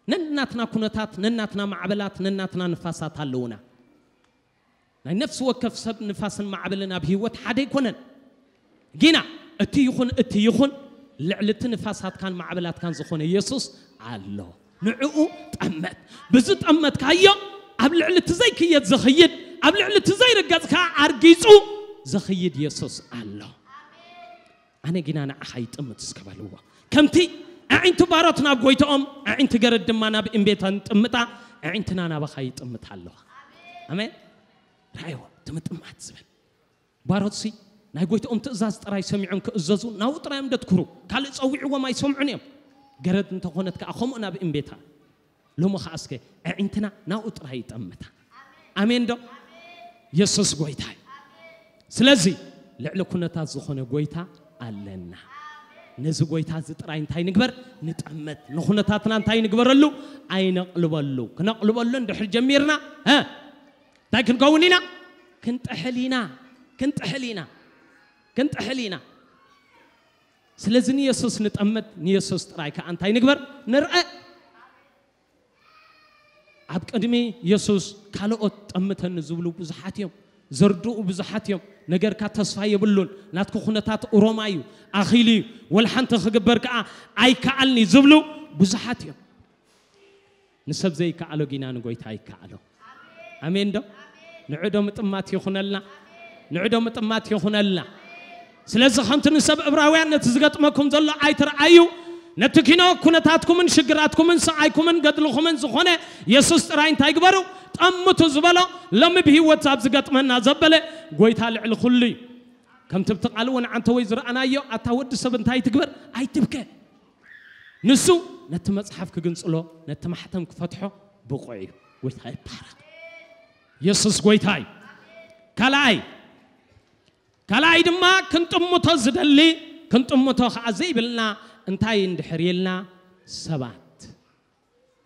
ነናትና ኩነታት፣ ነናትና ማዕበላት፣ ነናትና ንፋሳት ኣለዉና። ናይ ነፍሲ ወከፍ ሰብ ንፋስን ማዕበልን ኣብ ህይወት ሓደ ኣይኮነን። ጊና እቲ ይኹን እቲ ይኹን ልዕሊ እቲ ንፋሳትካን ማዕበላትካን ዝኾነ የሱስ ኣሎ። ንዕኡ ጠመት። ብዝጠመትካዮ ኣብ ልዕሊ እቲ ዘይክየድ ዝኽይድ፣ ኣብ ልዕሊ እቲ ዘይርገጽ ከኣ ኣርጊጹ ዝኽይድ የሱስ ኣሎ። ኣነ ግና ንዓኻ ይጥምት እስከ በልዎ። ከምቲ ኣዒንቲ ባሮት ናብ ጎይትኦም፣ ኣዒንቲ ገረድ ድማ ናብ እምቤተን ጥምጣ፣ ኣዒንትና ናባኻ ይጥምት ኣለዋ። ኣሜን። ረኣይዎ፣ እቲ ምጥማት ዝብል። ባሮትሲ ናይ ጎይትኦም ትእዛዝ ጥራይ ሰሚዖም ክእዘዙ፣ ናብኡ ጥራይ እዮም ደትኩሩ። ካልእ ጸዊዕዎም ኣይሰምዑን እዮም። ገረድ እንተኾነት ከኣ ከምኡ ናብ እምቤታ። ሎሚ ኸዓ እስከ ኣዒንትና ናብኡ ጥራይ ይጠምታ። ኣሜን ዶ? የሱስ ጎይታ እዩ። ስለዚ ልዕሊ ኩነታት ዝኾነ ጎይታ ኣለና። ነዚ ጎይታ እዚ ጥራይ እንታይ ንግበር? ንጠመት። ንኹነታትና እንታይ ንግበረሉ? ኣይነቕልበሉ። ክነቕልበሉ እንድሕር ጀሚርና፣ እ፣ እንታይ ክንከውን ኢና? ክንጥሕል ኢና። ክንጥሕል ኢና። ክንጥሕል ኢና። ስለዚ ንየሱስ ንጠመት፣ ንየሱስ ጥራይ ከኣ እንታይ ንግበር? ንርአ። ኣብ ቅድሚ የሱስ ካልኦት ጠምተኒ ዝብሉ ብዙሓት እዮም። ዘርድኡ ብዙሓት እዮም። ነገርካ ተስፋ የብሉን። ናትኩ ኩነታት ኡሮማ እዩ። ኣኺሉ እዩ። ወላ ሓንቲ ክግበር ከኣ ኣይከኣልኒ ዝብሉ ብዙሓት እዮም። ንሰብ ዘይከኣሎ ጊና ንጎይታ ይከኣሎ። ኣሜን ዶ? ንዑ ዶ ምጥማት ይኹነልና? ንዑ ዶ ምጥማት ይኹነልና? ስለዚ ከምቲ ንሰብ ዕብራውያን ነቲ ዝገጥመኩም ዘሎ ኣይትርኣዩ። ነቲ ኪኖ ኩነታትኩምን ሽግራትኩምን ስቓይኩምን ገድልኹምን ዝኾነ የሱስ ጥራይ እንታይ ግበሩ? ጠምቱ ዝበሎ ሎሚ ብህይወት ኣብ ዝገጥመና ዘበለ ጎይታ ልዕሊ ኩሉ እዩ። ከምቲ ብቲ ቃል እውን ዓንተ ወይ ዝረኣናዮ ኣታ ወዲ ሰብ እንታይ ትግበር ኣይትብከ። ንሱ ነቲ መጽሓፍ ክግንጽሎ ነቲ ማሕተም ክፈትሖ ብቑዕ እዩ። ጎይታ ይባረክ። የሱስ ጎይታ እዩ። ካልኣይ ካልኣይ ድማ ክንጥምቶ ዝደሊ ክንጥምቶ ከዓ ዘይብልና እንታይ እንድሕር ኢልና ሰባት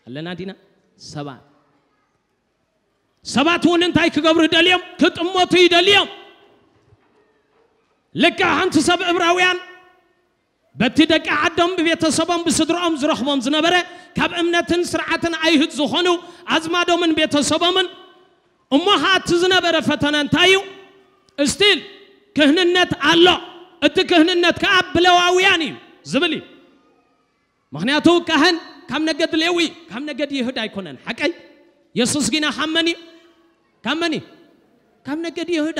ኣለና ዲና ሰባት ሰባት እውን እንታይ ክገብሩ ይደልዮም ክጥመቱ ይደልዮም። ልክዕ ሓንቲ ሰብ እብራውያን በቲ ደቂ ዓዶም ብቤተሰቦም ብስድሮኦም ዝረኽቦም ዝነበረ ካብ እምነትን ስርዓትን ኣይሁድ ዝኾኑ ኣዝማዶምን ቤተሰቦምን እሞ ኸዓ እቲ ዝነበረ ፈተነ እንታይ እዩ? ስቲል ክህንነት ኣሎ። እቲ ክህንነት ከዓ ብለዋውያን እዩ ዝብል እዩ። ምኽንያቱ ካህን ካብ ነገድ ሌዊ ካብ ነገድ ይሁዳ ኣይኮነን። ሓቀይ የሱስ ጊና ካብ መን እዩ? ካብ መን እዩ? ካብ ነገድ ይሁዳ።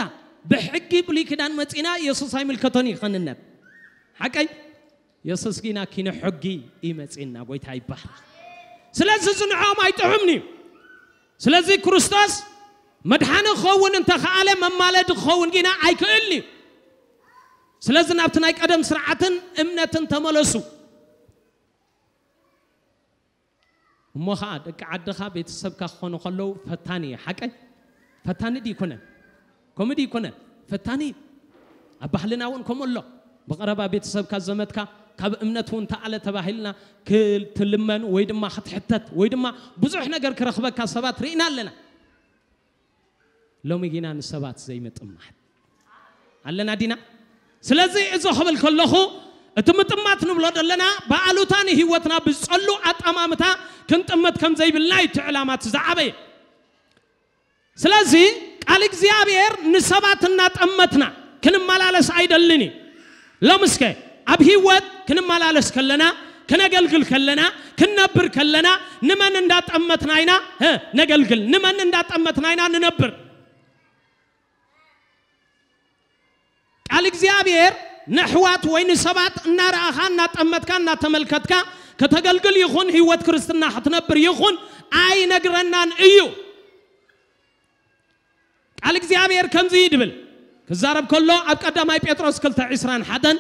ብሕጊ ብሉይ ኪዳን መፂና የሱስ ኣይምልከቶን እዩ ክህንነት። ሓቀይ የሱስ ጊና ኪነ ሕጊ እዩ መፂና። ጎይታ ይባሃል። ስለዚ እዚ ንዕኦም ኣይጥዑምን እዩ። ስለዚ ክርስቶስ መድሓኒ ክኸውን እንተኸኣለ መማለዲ ክኸውን ጊና ኣይክእልን እዩ። ስለዚ ናብቲ ናይ ቀደም ስርዓትን እምነትን ተመለሱ። እሞ ኸዓ ደቂ ዓድኻ ቤተሰብካ ክኾኑ ከለዉ ፈታኒ እዩ። ሓቀይ ፈታኒ ድዩ ይኮነን? ከምኡ ድዩ ይኮነን? ፈታኒ እዩ። ኣብ ባህልና እውን ከምኡ ኣሎ። ብቐረባ ቤተሰብካ ዘመድካ ካብ እምነት እውን ተኣለ ተባሂልና ክትልመን ወይ ድማ ክትሕተት ወይ ድማ ብዙሕ ነገር ክረኽበካ ሰባት ርኢና ኣለና። ሎሚ ጊና ንሰባት ዘይምጥማት ኣለና ዲና? ስለዚ እዚ ክብል ከለኹ እቲ ምጥማት ንብሎ ዘለና ብኣሉታ ንህይወትና ብዝጸሉ ኣጠማምታ ክንጥምት ከም ዘይብልና እዩ እቲ ዕላማ እቲ ዝዓበየ። ስለዚ ቃል እግዚኣብሔር ንሰባት እናጠመትና ክንመላለስ ኣይደልን እዩ። ሎምስከ ኣብ ህይወት ክንመላለስ ከለና ክነገልግል ከለና ክንነብር ከለና ንመን እንዳጠመትና ኢና እ፣ ነገልግል ንመን እንዳጠመትና ኢና ንነብር። ቃል እግዚኣብሔር ንኣሕዋት ወይ ንሰባት እናረኣኻ እናጠመትካ እናተመልከትካ ከተገልግል ይኹን ህይወት ክርስትና ክትነብር ይኹን ኣይነግረናን እዩ። ቃል እግዚኣብሔር ከምዚ እዩ ድብል ክዛረብ ከሎ ኣብ ቀዳማይ ጴጥሮስ ክልተ ዕስራን ሓደን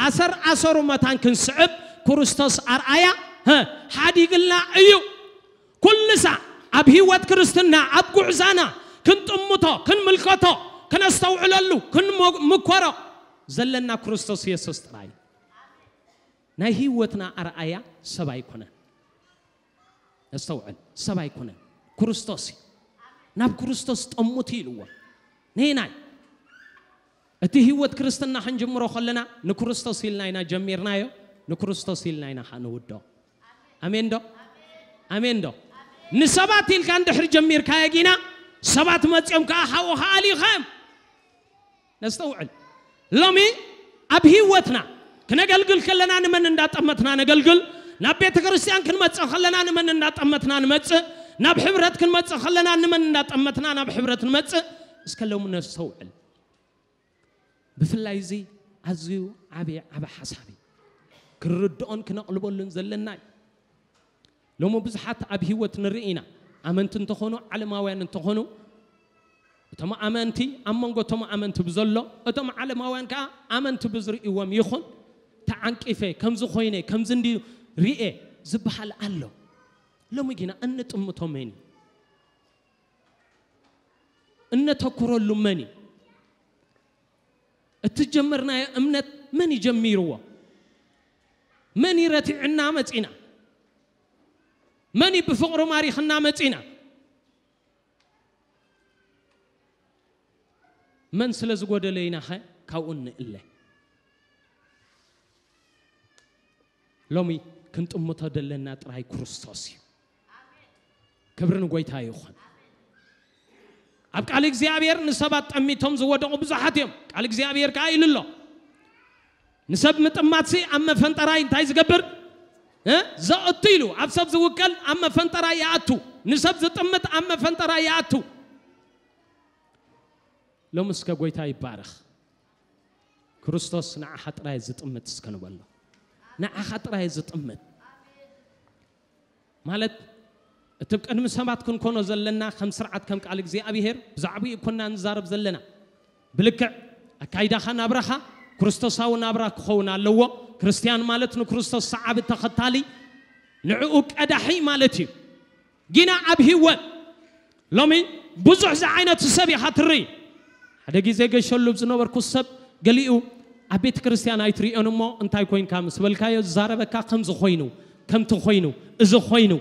ኣሰር ኣሰሩ መታን ክንስዕብ ክርስቶስ ኣርኣያ ሀ፣ ሓዲግልና እዩ። ኩሉ ሳዕ ኣብ ህይወት ክርስትና ኣብ ጉዕዛና ክንጥምቶ ክንምልከቶ ክነስተውዕለሉ ክንምኮሮ ዘለና ክርስቶስ የሱስ ጥራይ። ናይ ህይወትና ኣርኣያ ሰብ ኣይኮነን። ነስተውዕል ሰብ ኣይኮነን ክርስቶስ እዩ። ናብ ክርስቶስ ጠሙት ኢልዎ ነይናይ እቲ ህይወት ክርስትና ክንጅምሮ ከለና ንክርስቶስ ኢልና ኢና ጀሚርናዮ። ንክርስቶስ ኢልና ኢና ከዓ ንውዶ። ኣሜን ዶ? ኣሜን ዶ? ንሰባት ኢልካ እንድሕር ጀሚርካዮ ጊና ሰባት መፅኦም ከዓ ሓውኻ ኣሊኻዮም። ነስተውዕል። ሎሚ ኣብ ህይወትና ክነገልግል ከለና ንመን እንዳጠመትና ነገልግል። ናብ ቤተ ክርስቲያን ክንመፅእ ከለና ንመን እንዳጠመትና ንመፅእ። ናብ ሕብረት ክንመፅእ ከለና ንመን እንዳጠመትና ናብ ሕብረት ንመፅእ። እስከ ሎሚ ነስተውዕል። ብፍላይ እዚ ኣዝዩ ዓብዪ ዓቢ ሓሳብ እዩ። ክንርድኦን ክነቕልበሉን ዘለና እዩ። ሎሚ ብዙሓት ኣብ ህይወት ንርኢ ኢና። ኣመንቲ እንተኾኑ ዓለማውያን እንተኾኑ እቶም ኣመንቲ ኣብ መንጎ እቶም ኣመንቲ ብዘሎ እቶም ዓለማውያን ከዓ ኣመንቲ ብዝርእይዎም ይኹን ተዓንቂፈ ከምዚ ኮይነ ከምዚ እንዲ ርኤ ዝበሃል ኣሎ። ሎሚ ግና እንጥምቶ መን እዩ? እነተኩረሉ መን እዩ? እቲ ጀመርናዮ እምነት መን ይጀሚርዎ? መን ይረቲዕና መጺና? መን ብፍቕሩ ማሪኽና መጺና? መን ስለ ዝጎደለ ኢናኸ ካብኡ ንእለ? ሎሚ ክንጥምቶ ደለና ጥራይ ክርስቶስ እዩ። ክብሪ ንጎይታ ይኹን። ኣብ ቃል እግዚኣብሔር ንሰባት ጠሚቶም ዝወደቑ ብዙሓት እዮም። ቃል እግዚኣብሔር ከዓ ኢሉ ኣሎ፣ ንሰብ ምጥማትሲ ኣብ መፈንጠራይ እንታይ ዝገብር እ? ዘእቱ ኢሉ። ኣብ ሰብ ዝውከል ኣብ መፈንጠራይ ይኣቱ። ንሰብ ዝጥምት ኣብ መፈንጠራይ ይኣቱ። ሎም እስከ ጎይታ ይባረኽ። ክርስቶስ ንዓኻ ጥራይ ዝጥምት እስከ ንበሎ። ንዓኻ ጥራይ ዝጥምት ማለት እቲ ቅድሚ ሰባት ክንኮኖ ዘለና ከም ስርዓት ከም ቃል እግዚኣብሔር ብዛዕባኡ ኮና ንዛረብ ዘለና። ብልክዕ ኣካይዳኻ ናብራኻ ክርስቶሳዊ ናብራ ክኸውን ኣለዎ። ክርስትያን ማለት ንክርስቶስ ሰዓቢ ተኸታሊ ንዕኡ ቀዳሒ ማለት እዩ። ጊና ኣብ ህይወት ሎሚ ብዙሕ ዝዓይነቱ ሰብ ኢኻ ትርኢ። ሓደ ግዜ ገሸሉ ዝነበርኩ ሰብ ገሊኡ ኣብ ቤተ ክርስቲያን ኣይትርእዮን እሞ እንታይ ኮይንካ ምስ በልካዮ ዝዛረበካ ከምዚ ኮይኑ ከምቲ ኮይኑ እዚ ኮይኑ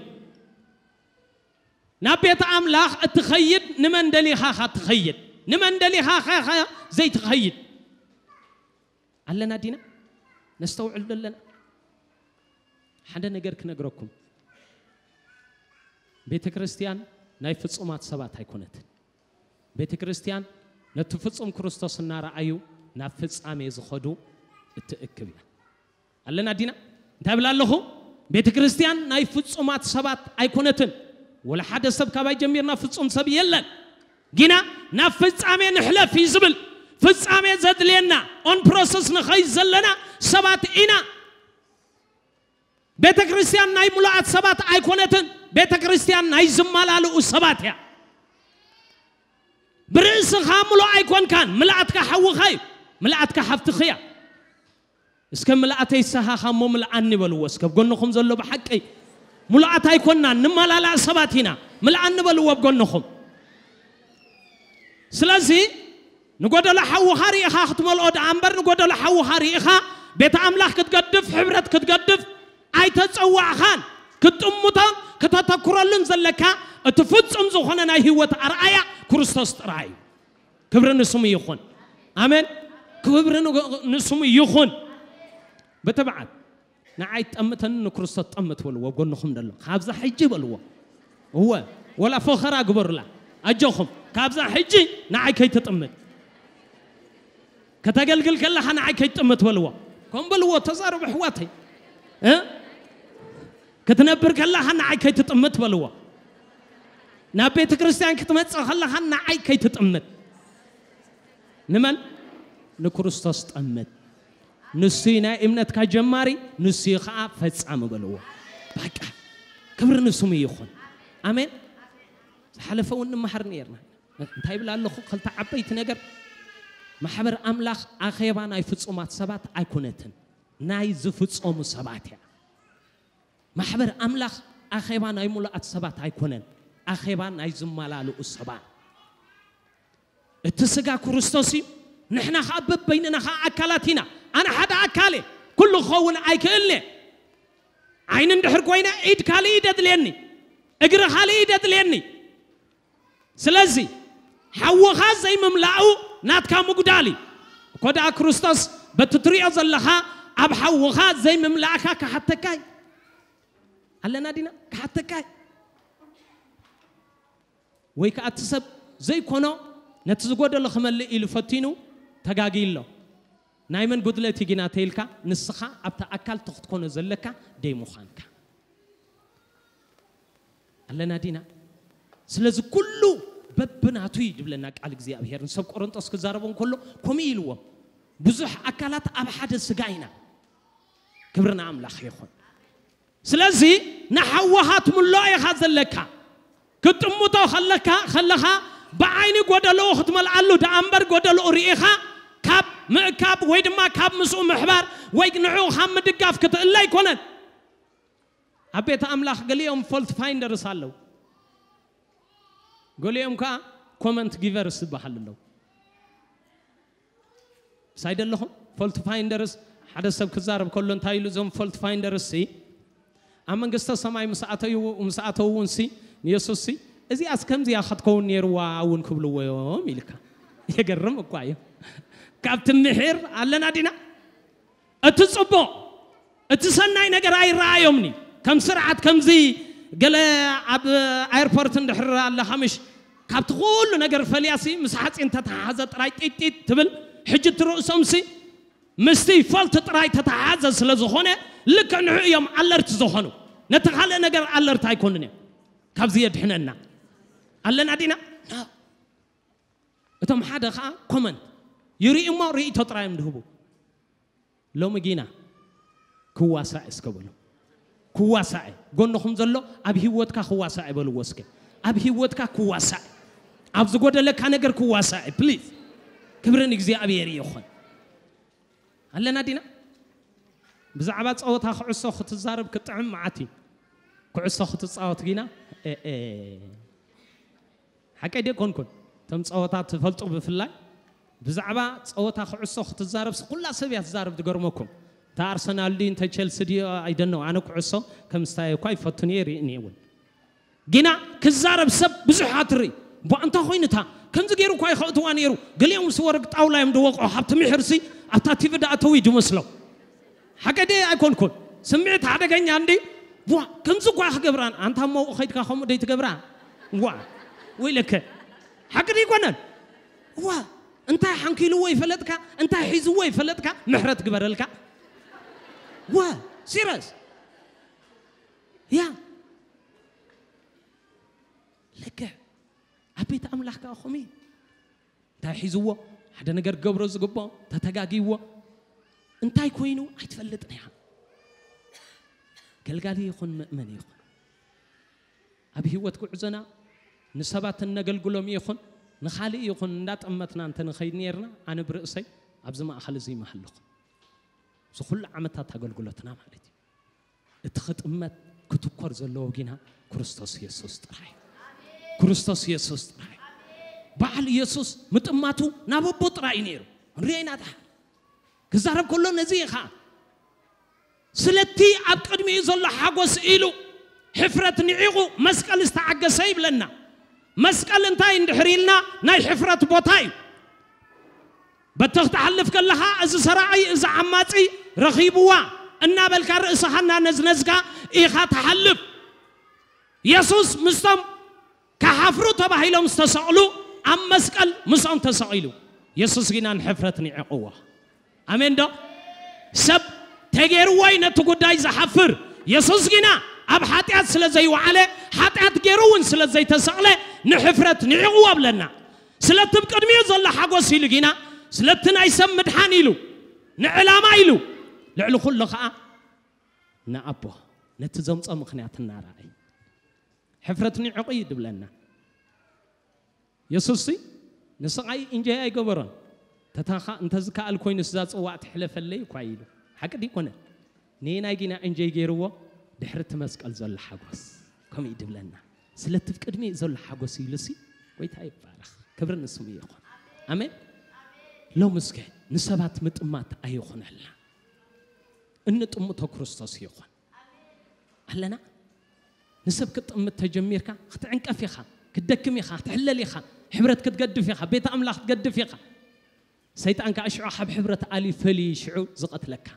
ናብ ቤት ኣምላኽ እትኸይድ ንመን ደሊኻ ኻ ትኸይድ? ንመን ደሊኻ ኻ ዘይትኸይድ? ኣለና ዲና? ነስተውዕል ደለና? ሓደ ነገር ክነግረኩም። ቤተ ክርስቲያን ናይ ፍጹማት ሰባት ኣይኮነትን። ቤተ ክርስቲያን ነቲ ፍጹም ክርስቶስ እናረኣዩ ናብ ፍጻሜ ዝኸዱ እትእክብ እያ። ኣለና ዲና? እንታይ ብላ ኣለኹ? ቤተ ክርስቲያን ናይ ፍጹማት ሰባት ኣይኮነትን። ወላ ሓደ ሰብ ካባይ ጀሚርና ፍጹም ሰብ የለን። ጊና ናብ ፍጻሜ ንሕለፍ እዩ ዝብል። ፍጻሜ ዘድልየና ኦን ፕሮሰስ ንኸይድ ዘለና ሰባት ኢና። ቤተ ክርስቲያን ናይ ሙሉኣት ሰባት ኣይኮነትን። ቤተ ክርስቲያን ናይ ዝመላልኡ ሰባት እያ። ብርእስኻ ሙሉእ ኣይኮንካን። ምልኣትካ ሓውኻ እዩ። ምልኣትካ ሓፍትኺ እያ። እስከ ምልኣተይ ሰሃኻ እሞ ምልኣኒ በልዎ። እስከ ብጎንኹም ዘሎ ብሓቂ ሙሉኣት ኣይኮንናን፣ ንመላላእ ሰባት ኢና። ምልኣኒ በልዎ ብጎንኹም። ስለዚ ንጎደሎ ሓውኻ ርኢኻ ክትመልኦ ደኣ እምበር ንጎደሎ ሓውኻ ርኢኻ ቤተ ኣምላኽ ክትገድፍ፣ ሕብረት ክትገድፍ ኣይተጸዋዕኻን። ክትጥምቶን ከተተኩረሉን ዘለካ እቲ ፍጹም ዝኾነ ናይ ህይወት ኣርኣያ ክርስቶስ ጥራይ እዩ። ክብሪ ንስሙ ይኹን። ኣሜን። ክብሪ ን-፣ ንስሙ ይኹን። ብትብዓት ንዓይ ጠምተኒ ንክርስቶስ ጠምት በልዎ። ጎንኹም ደሎ ካብዛ ሕጂ በልዎ። እወ፣ ወላ ፈኸራ ግበሩላ። ኣጆኹም ካብዛ ሕጂ ንዓይ ከይትጥምት። ከተገልግል ከለኻ ንዓይ ከይትጥምት በልዎ። ከም በልዎ ተዛረቡ ኣሕዋተይ። እ? ክትነብር ከለኻ ንዓይ ከይትጥምት በልዎ። ናብ ቤተ ክርስቲያን ክትመጽእ ከለኻ ንዓይ ከይትጥምት። ንመን? ንክርስቶስ ጠምት። ንሱ እዩ ናይ እምነትካ ጀማሪ፣ ንሱ እዩ ኸዓ ፈጻሚ በልዎ። በቃ ክብሪ ንስሙ ይኹን። ኣሜን። ዝሓለፈ እውን ንመሃር ነርና። እንታይ ይብል ኣለኹ? ክልተ ዓበይቲ ነገር። ማሕበር ኣምላኽ ኣኼባ ናይ ፍጹማት ሰባት ኣይኮነትን፣ ናይ ዝፍጸሙ ሰባት እያ። ማሕበር ኣምላኽ ኣኼባ ናይ ሙሉኣት ሰባት ኣይኮነን፣ ኣኼባ ናይ ዝመላልኡ ሰባት። እቲ ስጋ ክርስቶስ እዩ፣ ንሕና ኸዓ በበይንና ኸዓ ኣካላት ኢና። ኣነ ሓደ ኣካል እየ፣ ኩሉ ክኸውን ኣይክእልን እየ። ዓይኒ እንድሕር ኮይነ ኢድ ካልእ እዩ ደድልየኒ፣ እግሪ ካልእ እዩ ደድልየኒ። ስለዚ ሓውኻ ዘይምምላኡ ናትካ ምጉዳል እዩ። እኮ ደኣ ክርስቶስ በቲ ትሪኦ ዘለኻ ኣብ ሓውኻ ዘይምምላእካ ክሓተካ እዩ። ኣለና ዲና? ክሓተካ እዩ። ወይ ከኣ እቲ ሰብ ዘይኮኖ ነቲ ዝጎደሎ ክመልእ ኢሉ ፈቲኑ ተጋግዩ ኣሎ። ናይ መን ጉድለት እዩ ግና ተይልካ ንስኻ ኣብቲ ኣካል እቲ ክትኮኖ ዘለካ ደይ ምዃንካ። ኣለና ዲና? ስለዚ ኩሉ በብናቱ እዩ ዝብለና ቃል እግዚኣብሔር። ንሰብ ቆሮንጦስ ክዛረቦም ከሎ ከምኡ ኢልዎም፣ ብዙሕ ኣካላት ኣብ ሓደ ስጋ ኢና። ክብሪ ንኣምላኽ ይኹን። ስለዚ ንሓውኻ ትምልኦ ኢኻ ዘለካ። ክትጥምቶ ከለካ ከለኻ ብዓይኒ ጎደሎኡ ክትመልኣሉ ደኣ እምበር ጎደሎኡ ርኢኻ ካብ ምእካብ ወይ ድማ ካብ ምስኡ ምሕባር ወይ ንዕኡ ካብ ምድጋፍ ክትእለ ኣይኮነን። ኣብ ቤት ኣምላኽ ገሊኦም ፎልት ፋይንደርስ ኣለዉ፣ ገሊኦም ከኣ ኮመንት ጊቨርስ ዝበሃል ኣለዉ። ሳይደ ኣለኹም ፎልት ፋይንደርስ ሓደ ሰብ ክዛረብ ከሎ እንታይ ኢሉ፣ እዞም ፎልት ፋይንደርስ ሲ ኣብ መንግስተ ሰማይ ምስ ኣተዩ ምስ ኣተው እውን ሲ ንየሱስ ሲ እዚኣስ ከምዚኣ ክትከውን ነይርዋ እውን ክብልዎ እዮም ኢልካ። የገርም እኳ እዩ። ካብቲ ምሒር ኣለና ዲና? እቲ ጽቡቕ እቲ ሰናይ ነገር ኣይረኣዮምኒ። ከም ስርዓት ከምዚ ገለ ኣብ ኣየርፖርት እንድሕር ኣለኻ ምሽ ካብቲ ኩሉ ነገር ፈልያሲ ምስ ሓፂን ተተሓሓዘ ጥራይ ጢጢጥ ትብል። ሕጂ እቲ ርእሶምሲ ምስቲ ፈልቲ ጥራይ ተተሓሓዘ ስለ ዝኾነ ልክዕ ንዑ እዮም ኣለርት ዝኾኑ። ነቲ ካልእ ነገር ኣለርት ኣይኮኑን እዮም። ካብዚ የድሕነና ኣለና ዲና? እቶም ሓደ ከዓ ኮመንት ይርኢ እሞ ርእይቶ ጥራይ እዮም ድህቡ። ሎሚ ጊና ክዋሳእ እስከ በሉ። ክዋሳእ እዩ። ጎንኹም ዘሎ ኣብ ህይወትካ ክዋሳእ እዩ በልዎ እስከ። ኣብ ህይወትካ ክዋሳእ እዩ። ኣብ ዝጎደለካ ነገር ክዋሳእ እዩ። ፕሊዝ። ክብርን እግዚኣብሔር ይኹን። ኣለና ዲና? ብዛዕባ ጸወታ ኩዕሶ ክትዛረብ ክጥዕም መዓት እዩ። ኩዕሶ ክትጻወት ጊና፣ እ፣ እ፣ ሓቀይ ደ ኮንኩን። እቶም ጸወታ ትፈልጡ ብፍላይ ብዛዕባ ጸወታ ኩዕሶ ክትዛረብ ኩላ ሰብ እያ ትዛረብ። ትገርመኩም። እንተ ኣርሰናል ድዩ እንተ ቸልሲ ድዩ ኣይደነው። ኣነ ኩዕሶ ከም ስታይ እኳ ይፈቱን እየ ይርእን እየ እውን። ጊና ክዛረብ ሰብ ብዙሕ ኣትሪ። ቧ እንታ ኮይኑታ ከምዚ ገይሩ እኳ ይኸእትዋ ነይሩ። ገሊኦም ምስ ወረግ ጣውላ እዮም ድወቕዑ። ሃብቲ ምሕርሲ ኣብታ ቲቪ ደኣተው እዩ ድመስሎ። ሓቀ ደይ ኣይኮንኩን። ስምዒት ሓደገኛ እንዲ። ቧ ከምዚ እኳ ክገብራን ኣንታ እሞ ከይድካ ከምኡ ደይ ትገብራ። ዋ ወይለከ። ሓቂ ደይ ይኮነን። ዋ እንታይ ሓንኪልዎ ይፈለጥካ፣ እንታይ ሒዝዎ ይፈለጥካ። ምሕረት ግበረልካ። ዋ ሲረስ ያ ልክዕ ኣብ ቤት ኣምላኽ ከዓ ኸምኡ እዩ። እንታይ ሒዝዎ ሓደ ነገር ክገብሮ ዝግብኦ ተተጋጊዎ እንታይ ኮይኑ ኣይትፈልጥን ኢኻ። ገልጋሊ ይኹን ምእመን ይኹን ኣብ ህይወት ጉዕዞና ንሰባት እነገልግሎም ይኹን ንኻልእ ይኹን እንዳጠመትና እንተ ንኸይድ ነርና ኣነ ብርእሰይ ኣብዚ ማእኸል እዚ ይመሃለኹ። እዚ ኩሉ ዓመታት ኣገልግሎትና ማለት እዩ። እቲ ክጥመት ክትኮር ዘለዎ ጊና ክርስቶስ የሱስ ጥራይ። ክርስቶስ የሱስ ጥራይ። በዓል የሱስ ምጥማቱ ናብ ኣቦ ጥራይ እዩ ነይሩ። ንሪኦ ኢና ደሓር ክዛረብ ከሎ ነዚ እዩ ኸዓ ስለቲ ኣብ ቅድሚኡ ዘሎ ሓጎስ ኢሉ ሕፍረት ንዒቑ መስቀል ዝተዓገሰ ይብለና። መስቀል እንታይ እንድሕር ኢልና ናይ ሕፍረት ቦታ እዩ። በቲ ክትሓልፍ ከለኻ እዚ ሰራቒ እዚ ዓማጺ ረኺብዋ እናበልካ ርእስኻ እናነዝነዝካ ኢኻ ትሓልፍ። የሱስ ምስቶም ክሓፍሩ ተባሂሎም ዝተሰቕሉ ኣብ መስቀል ምስኦም ተሰቒሉ። የሱስ ግና ንሕፍረት ንዒቕዎ። ኣሜን ዶ? ሰብ ተገይርዎ እዩ ነቲ ጉዳይ ዝሓፍር። የሱስ ግና ኣብ ሓጢኣት ስለ ዘይወዓለ ሓጢኣት ገይሩ እውን ስለ ዘይተሰቕለ ንሕፍረት ንዒቕዎ ኣብለና። ስለቲ ብ ቅድሚኡ ዘሎ ሓጎስ ኢሉ ጊና ስለቲ ናይ ሰብ ምድሓን ኢሉ ንዕላማ ኢሉ ልዕሊ ኩሉ ኸዓ ንኣቦ ነቲ ዘምጾ ምኽንያት እናረኣይ ሕፍረት ንዕቑ እዩ ድብለና። የሱስ ንስቓይ እንጀይ ኣይገበሮን። ተታኻ እንተዝከኣል ኮይኑ ስዛ ጽዋዕ ትሕለፈለይ እኳ ኢሉ ሓቂ ድይኮነ ንናይ ጊና እንጀይ ገይርዎ ድሕሪ እቲ መስቀል ዘሎ ሓጎስ ከምኡ እዩ ድብለና። ስለቲ ብ ቅድሚ ዘሎ ሓጎስ ኢሉሲ ጎይታ ይባረኽ። ክብሪ ንስሙ ይኹን። ኣሜን። ሎሚ እስከ ንሰባት ምጥማት ኣይኹነልና። እንጥምቶ ክርስቶስ ይኹን። ኣለና ንሰብ ክትጥምት ተጀሚርካ ክትዕንቀፍ ኢኻ። ክትደክም ኢኻ። ክትሕለል ኢኻ። ሕብረት ክትገድፍ ኢኻ። ቤት ኣምላኽ ክትገድፍ ኢኻ። ሰይጣን ከዓ ሽዑ ካብ ሕብረት ኣልዩ ፈልዩ ሽዑ ዝቐትለካ።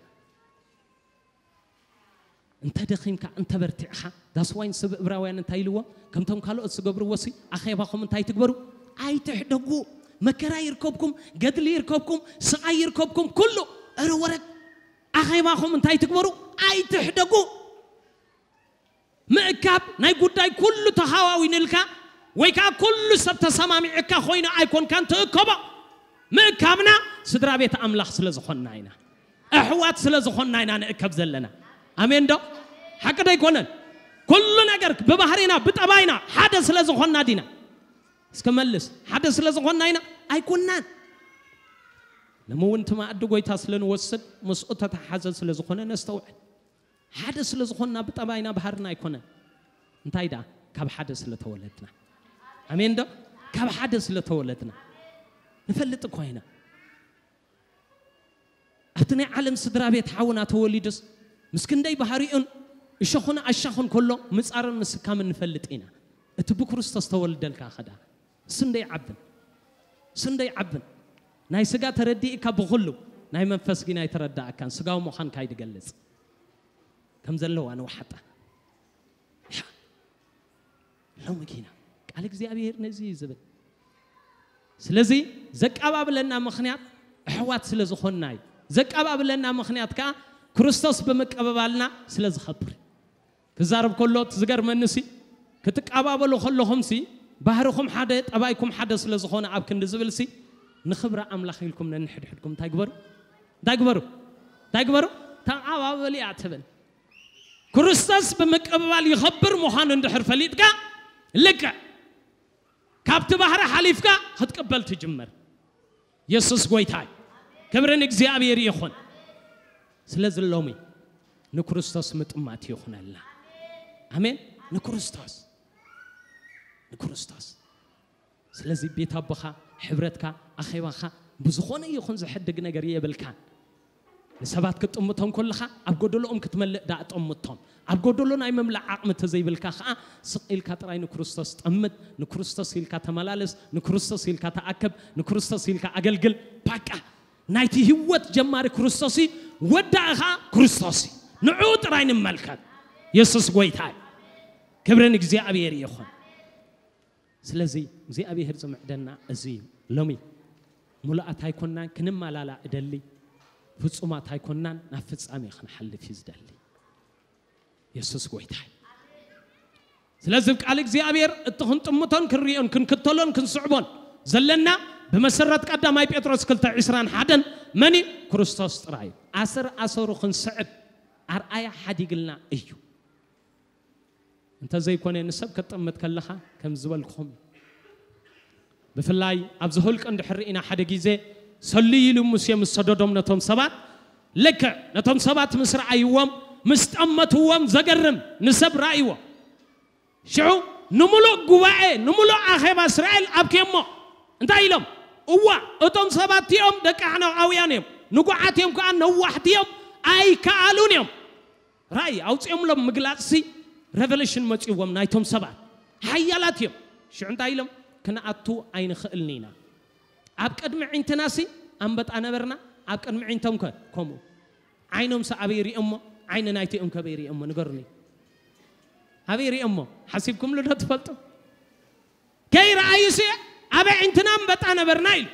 እንተ ደኺምካ እንተ በርቲዕኻ ዳስዋይ ንሰብ እብራውያን እንታይ ኢልዎ? ከምቶም ካልኦት ዝገብርዎ ሲ ኣኼባኹም እንታይ ትግበሩ? ኣይትሕደጉ። መከራ ይርከብኩም፣ ገድሊ ይርከብኩም፣ ስቓይ ይርከብኩም፣ ኩሉ እረ ወረግ ኣኼባኹም እንታይ ትግበሩ? ኣይትሕደጉ። ምእካብ ናይ ጉዳይ ኩሉ ተሃዋዊንልካ ወይ ከዓ ኩሉ ሰብ ተሰማሚዕካ ኮይኑ ኣይኮንካን ትእከቦ። ምእካብና ስድራ ቤት ኣምላኽ ስለ ዝኾንና ኢና። ኣሕዋት ስለ ዝኾንና ኢና ንእከብ ዘለና። ኣሜን ዶ? ሓቂ ዶ ኣይኮነን? ኩሉ ነገር ብባህሪና ብጠባይና ሓደ ስለ ዝኾንና ዲና? እስከ መልስ። ሓደ ስለ ዝኾንና ኢና? ኣይኮንናን። ሎሚ እውን እቲ መኣዲ ጎይታ ስለ ንወስድ ምስኡ ተተሓዘ ስለ ዝኾነ ነስተውዕል። ሓደ ስለ ዝኾንና ብጠባይና ባህርና ኣይኮነን። እንታይ ደኣ ካብ ሓደ ስለ ተወለድና። ኣሜን ዶ? ካብ ሓደ ስለ ተወለድና ንፈልጥ እኳ ኢና። ኣብቲ ናይ ዓለም ስድራ ቤት ሓውና ተወሊዱስ ምስ ክንደይ ባህሪኡን እሾኹን ኣሻኹን ከሎ ምጻርን ምስካምን ንፈልጥ ኢና። እቲ ብክርስቶስ ተወልደልካ ኸዳ እሱ እንደ ይዓብን እሱ እንደ ይዓብን ናይ ስጋ ተረዲእካ ብኹሉ ናይ መንፈስ ግን ኣይተረዳእካን። ስጋዊ ምዃንካ ይድገልጽ ከም ዘለዋ ንውሓጣ ሎሚ ኪና ቃል እግዚኣብሔር ነዚ እዩ ዝብል። ስለዚ ዘቀባብለና ምኽንያት ኣሕዋት ስለ ዝኾንና እዩ። ዘቀባብለና ምኽንያት ከዓ ክርስቶስ ብምቅብባልና ስለ ዝኸብር። ክዛረብ ከሎ እቲ ዝገርመኒ ሲ ክትቀባበሉ ከለኹም ሲ ባህርኹም ሓደ ጠባይኩም ሓደ ስለ ዝኾነ ኣብ ክንዲ ዝብል ሲ ንኽብሪ ኣምላኽ ኢልኩም ነንሕድሕድኩም እንታይ ግበሩ እንታይ ግበሩ እንታይ ግበሩ ተቐባበሉ እያ ትብል። ክርስቶስ ብምቅብባል ይኸብር ምዃኑ እንድሕር ፈሊጥካ፣ ልክዕ ካብቲ ባህሪ ሓሊፍካ ክትቅበል ትጅምር። የሱስ ጎይታይ። ክብሪ ንእግዚኣብሔር ይኹን። ስለዚ ሎሚ ንክርስቶስ ምጥማት ይኹነልና። ኣሜን። ንክርስቶስ፣ ንክርስቶስ። ስለዚ ቤት ኣቦኻ፣ ሕብረትካ፣ ኣኼባኻ ብዝኾነ ይኹን ዝሕድግ ነገር የብልካን። ንሰባት ክትጥምቶም ከለኻ ኣብ ጎደሎኦም ክትመልእ ደኣ ጠምቶም። ኣብ ጎደሎ ናይ ምምላእ ዓቕሚ እንተዘይብልካ ኸኣ ስቕ ኢልካ ጥራይ ንክርስቶስ ጠምት፣ ንክርስቶስ ኢልካ ተመላለስ፣ ንክርስቶስ ኢልካ ተኣከብ፣ ንክርስቶስ ኢልካ ኣገልግል። ባቃ ናይቲ ህይወት ጀማሪ ክርስቶስ እዩ፣ ወዳኢ ኸኣ ክርስቶስ እዩ። ንዕኡ ጥራይ ንመልከት። የሱስ ጎይታ እዩ። ክብሪ ንእግዚኣብሔር ይኹን። ስለዚ እግዚኣብሔር ዝምዕደና እዚ እዩ። ሎሚ ሙሉኣት ኣይኮናን፣ ክንመላላእ እደሊ፣ ፍጹማት ኣይኮናን፣ ናብ ፍጻሜ ክንሓልፍ እዩ ዝደሊ። የሱስ ጎይታ እዩ። ስለዚ ቃል እግዚኣብሔር እቲ ክንጥምቶን ክንሪኦን ክንክተሎን ክንስዕቦን ዘለና ብመሰረት ቀዳማይ ጴጥሮስ ክልተ ዕስራን ሓደን መን እዩ? ክርስቶስ ጥራይ እዩ። ኣሰር ኣሰሩ ክንስዕብ ኣርኣያ ሓዲግልና እዩ። እንተ ዘይኮነ ንሰብ ከጠምት ከለኻ ከም ዝበልኩኹም፣ ብፍላይ ኣብዚ ሁልቂ እንድሕር ርኢና ሓደ ግዜ ሰልዩ ኢሉ ሙሴ ምስ ሰደዶም ነቶም ሰባት፣ ልክዕ ነቶም ሰባት ምስ ረኣይዎም ምስ ጠመትዎም ዘገርም ንሰብ ረኣይዎ። ሽዑ ንምሉእ ጉባኤ ንምሉእ ኣኼባ እስራኤል ኣብክየሞ እንታይ ኢሎም? እዋ እቶም ሰባት እቲኦም ደቂ ኣዕናቃውያን እዮም፣ ንጉዓት እዮም ከኣ ነዋሕቲ እዮም ኣይከኣሉን እዮም። ራእይ ኣውፂኦምሎም ምግላፅሲ ሬቨሌሽን መፂዎም ናይቶም ሰባት ሓያላት እዮም። ሽዑ እንታይ ኢሎም? ክንኣቱ ኣይንኽእልን ኢና። ኣብ ቅድሚ ዒንትናሲ ኣንበጣ ነበርና፣ ኣብ ቅድሚ ዒንቶም ከ ከምኡ። ዓይኖምሲ ኣበይ ሪኦሞ? ዓይኒ ናይቲኦም ከበይ ሪኦሞ ንገሩኒ። ኣበይ ሪኦሞ ሓሲብኩምሉ ዶ ትፈልጡ? ከይረኣዩሲ ኣበይ ዒንትና ኣንበጣ ነበርና ኢሉ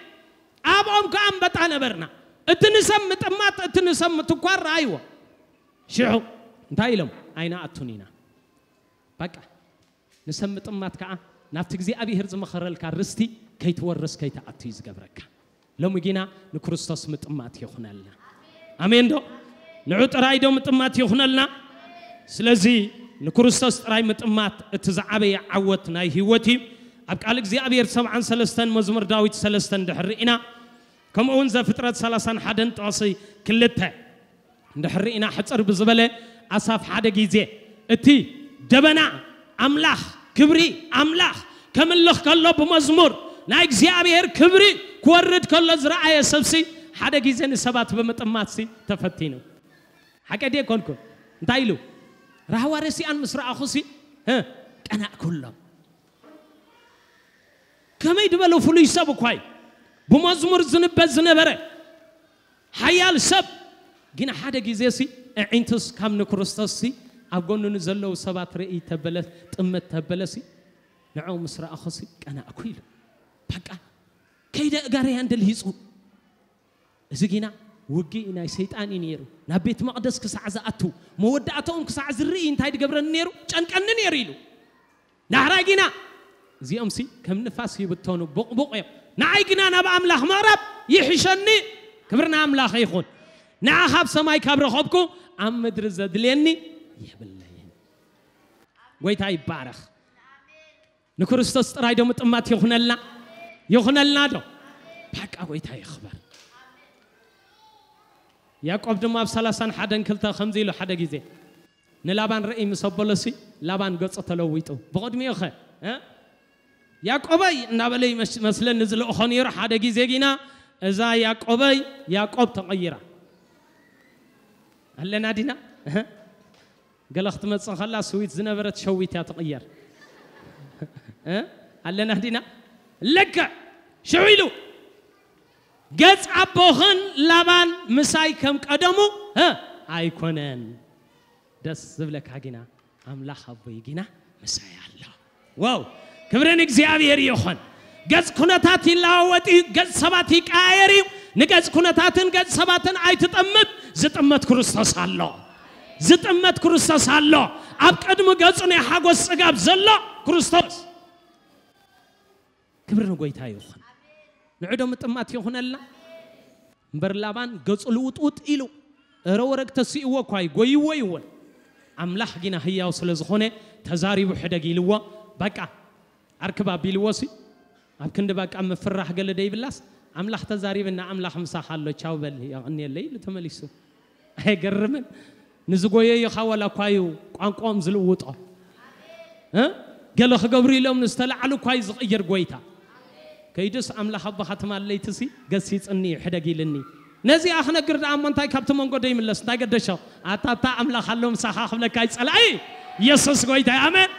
ኣብኦም ከኣ ኣንበጣ ነበርና። እቲ ንሰብ ምጥማት እቲ ንሰብ ምትኳር ረኣይዎ። ሽዑ እንታይ ኢሎም? ኣይንኣቱን ኢና። በቃ ንሰብ ምጥማት ከኣ ናብቲ እግዚኣብሔር ዝመኸረልካ ርስቲ ከይትወርስ ከይትኣቱ እዩ ዝገብረካ። ሎሚ ግና ንክርስቶስ ምጥማት ይኹነልና። ኣሜን ዶ? ንዑ ጥራይ ዶ ምጥማት ይኹነልና? ስለዚ ንክርስቶስ ጥራይ ምጥማት እቲ ዝዓበየ ዓወት ናይ ህይወት እዩ። ኣብ ቃል እግዚኣብሔር ሰብዓን ሰለስተን መዝሙር ዳዊት ሰለስተን ድሕር ርኢና ከምኡ እውን ዘፍጥረት ሰላሳን ሓደን ጥቕሲ ክልተ እንድሕር ርኢና ሕፅር ብዝበለ ኣሳፍ ሓደ ግዜ እቲ ደበና ኣምላኽ ክብሪ ኣምላኽ ከምልኽ ከሎ ብመዝሙር ናይ እግዚኣብሔር ክብሪ ክወርድ ከሎ ዝረኣየ ሰብሲ ሓደ ግዜ ንሰባት ብምጥማትሲ ተፈቲኑ። ሓቀ ድየ ኮንኩ? እንታይ ኢሉ? ራህዋ ረሲኣን ምስ ረኣኹሲ እ፣ ቀናእኩሎም። ከመይ ዝበለ ፍሉይ ሰብ እኳ እዩ። ብመዝሙር ዝንበብ ዝነበረ ሓያል ሰብ ግን ሓደ ግዜ ሲ ኣዒንቱስ ካብ ንክርስቶስ ሲ ኣብ ጎኑ ንዘለዉ ሰባት ርኢ ተበለ ጥመት ተበለ ሲ ንዕኡ ምስ ረኣኹ ሲ ቀናእኩ ኢሉ። በቃ ከይደ እጋረያን ደልሂፁ። እዚ ግና ውግእ ናይ ሰይጣን እዩ ነይሩ። ናብ ቤት መቕደስ ክሳዕ ዝኣቱ መወዳእታኦም ክሳዕ ዝርኢ እንታይ ድገብረኒ ነይሩ? ጨንቀኒ ነይሩ ኢሉ። ዳሕራይ ግና እዚኦም ሲ ከም ንፋስ ይብተኑ ቡቕቡቕ እዮም። ንዓይ ግና ናብ ኣምላኽ ምቕራብ ይሕሸኒ። ክብሪ ንኣምላኽ ይኹን። ንዓ ካብ ሰማይ ካብ ረኸብኩ ኣብ ምድሪ ዘድልየኒ የብለይን። ጎይታ ይባረኽ። ንክርስቶስ ጥራይ ዶ ምጥማት ይኹነልና? ይኹነልና ዶ? በቃ ጎይታ ይኽበር። ያዕቆብ ድማ ኣብ ሰላሳን ሓደን ክልተ ከምዚ ኢሉ ሓደ ግዜ ንላባን ርእይ ምስ ኣበሎሲ ላባን ገጹ ተለዊጡ ብቕድሚኡ ኸ እ? ያዕቆበይ እናበለ ይመስ- መስለኒ ዝልእኾ ነይሩ። ሓደ ግዜ ግና እዛ ያዕቆበይ ያዕቆብ ተቐይራ ኣለና ዲና እህ? ገለ ክትመጽእ ከላ ስዊት ዝነበረት ሸዊት እያ ትቕየር እ? ኣለና ዲና ልክዕ ሽዑ ኢሉ ገጽ ኣቦኽን ላባን ምሳይ ከም ቀደሙ እ? ኣይኮነን። ደስ ዝብለካ ግና ኣምላኽ ኣቦይ ግና ምሳይ ኣሎ። ዋው ክብሪ ንእግዚኣብሔር ይኹን። ገጽ ኩነታት ይለዋወጥ እዩ፣ ገጽ ሰባት ይቀያየር እዩ። ንገጽ ኩነታትን ገጽ ሰባትን ኣይትጠምት። ዝጥመት ክርስቶስ ኣሎ። ዝጥመት ክርስቶስ ኣሎ። ኣብ ቅድሚ ገጹ ናይ ሓጎስ ጽጋብ ዘሎ ክርስቶስ። ክብሪ ንጎይታ ይኹን። ንዕዶ ምጥማት ይኹነልና። እምበር ላባን ገጹ ልውጥውጥ ኢሉ እረ ወረግ ተስእዎ እኳ እዩ ጎይዎ ይውን ኣምላኽ ጊና ህያው ስለ ዝኾነ ተዛሪቡ ሕደግ ኢልዎ። በቃ ኣርክብ ኣቢልዎ ሲ ኣብ ክንዲ በቃ ምፍራሕ ገለ ደይብላስ ኣምላኽ ተዛሪብና ኣምላኽ ምሳኻ ኣሎ ቻው በል የቐንየለይ ኢሉ ተመሊሱ። ኣይገርምን? ንዝጎየዩኻ ዋላ እኳ እዩ ቋንቋኦም ዝልውጦ። እ? ገለ ክገብሩ ኢሎም ንዝተላዕሉ እኳ እዩ ዝቕይር ጎይታ። ከይዱስ ኣምላኽ ኣቦኻ ትማለይቲ ሲ ገሲጽኒ እዩ ሕደግ ኢልኒ። ነዚኣ ክነግር ደኣ እሞ እንታይ ካብቲ መንጎ ደይምለስ እንታይ ገደሾ? ኣታታ ኣምላኽ ኣሎ ምሳኻ ክብለካ ይጸላኢ። ኢየሱስ ጎይታ ኣሜን።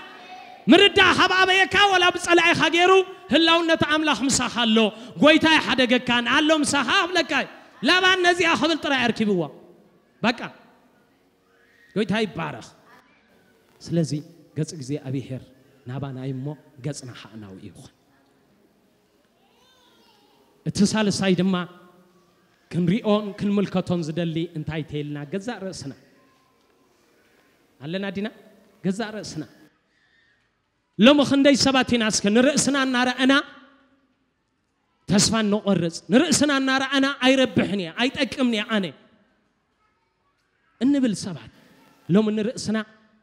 ምርዳእ ካብ ኣበየካ ወላ ብጸላኢኻ ገይሩ ህላውነት ኣምላኽ ምሳኻ ኣሎ። ጎይታ ይሓደገካን ኣሎ ምሳኻ ክብለካ እዩ። ላባን ነዚኣ ክብል ጥራይ ኣርኪብዎ። በቃ ጎይታ ይባረኽ። ስለዚ ገጽ እግዚኣብሔር ናባና እዩ እሞ ገጽና ኸኣ ናብኡ ይኹን። እቲ ሳልሳይ ድማ ክንሪኦን ክንምልከቶን ዝደሊ እንታይ ተይልና ገዛእ ርእስና ኣለና ዲና ገዛእ ርእስና ሎሚ ክንደይ ሰባት ኢና እስከ ንርእስና እናረኣና ተስፋ እንቆርጽ ንርእስና እናረኣና ኣይረብሕን እየ ኣይጠቅምን እየ ኣነ እንብል ሰባት ሎሚ ንርእስና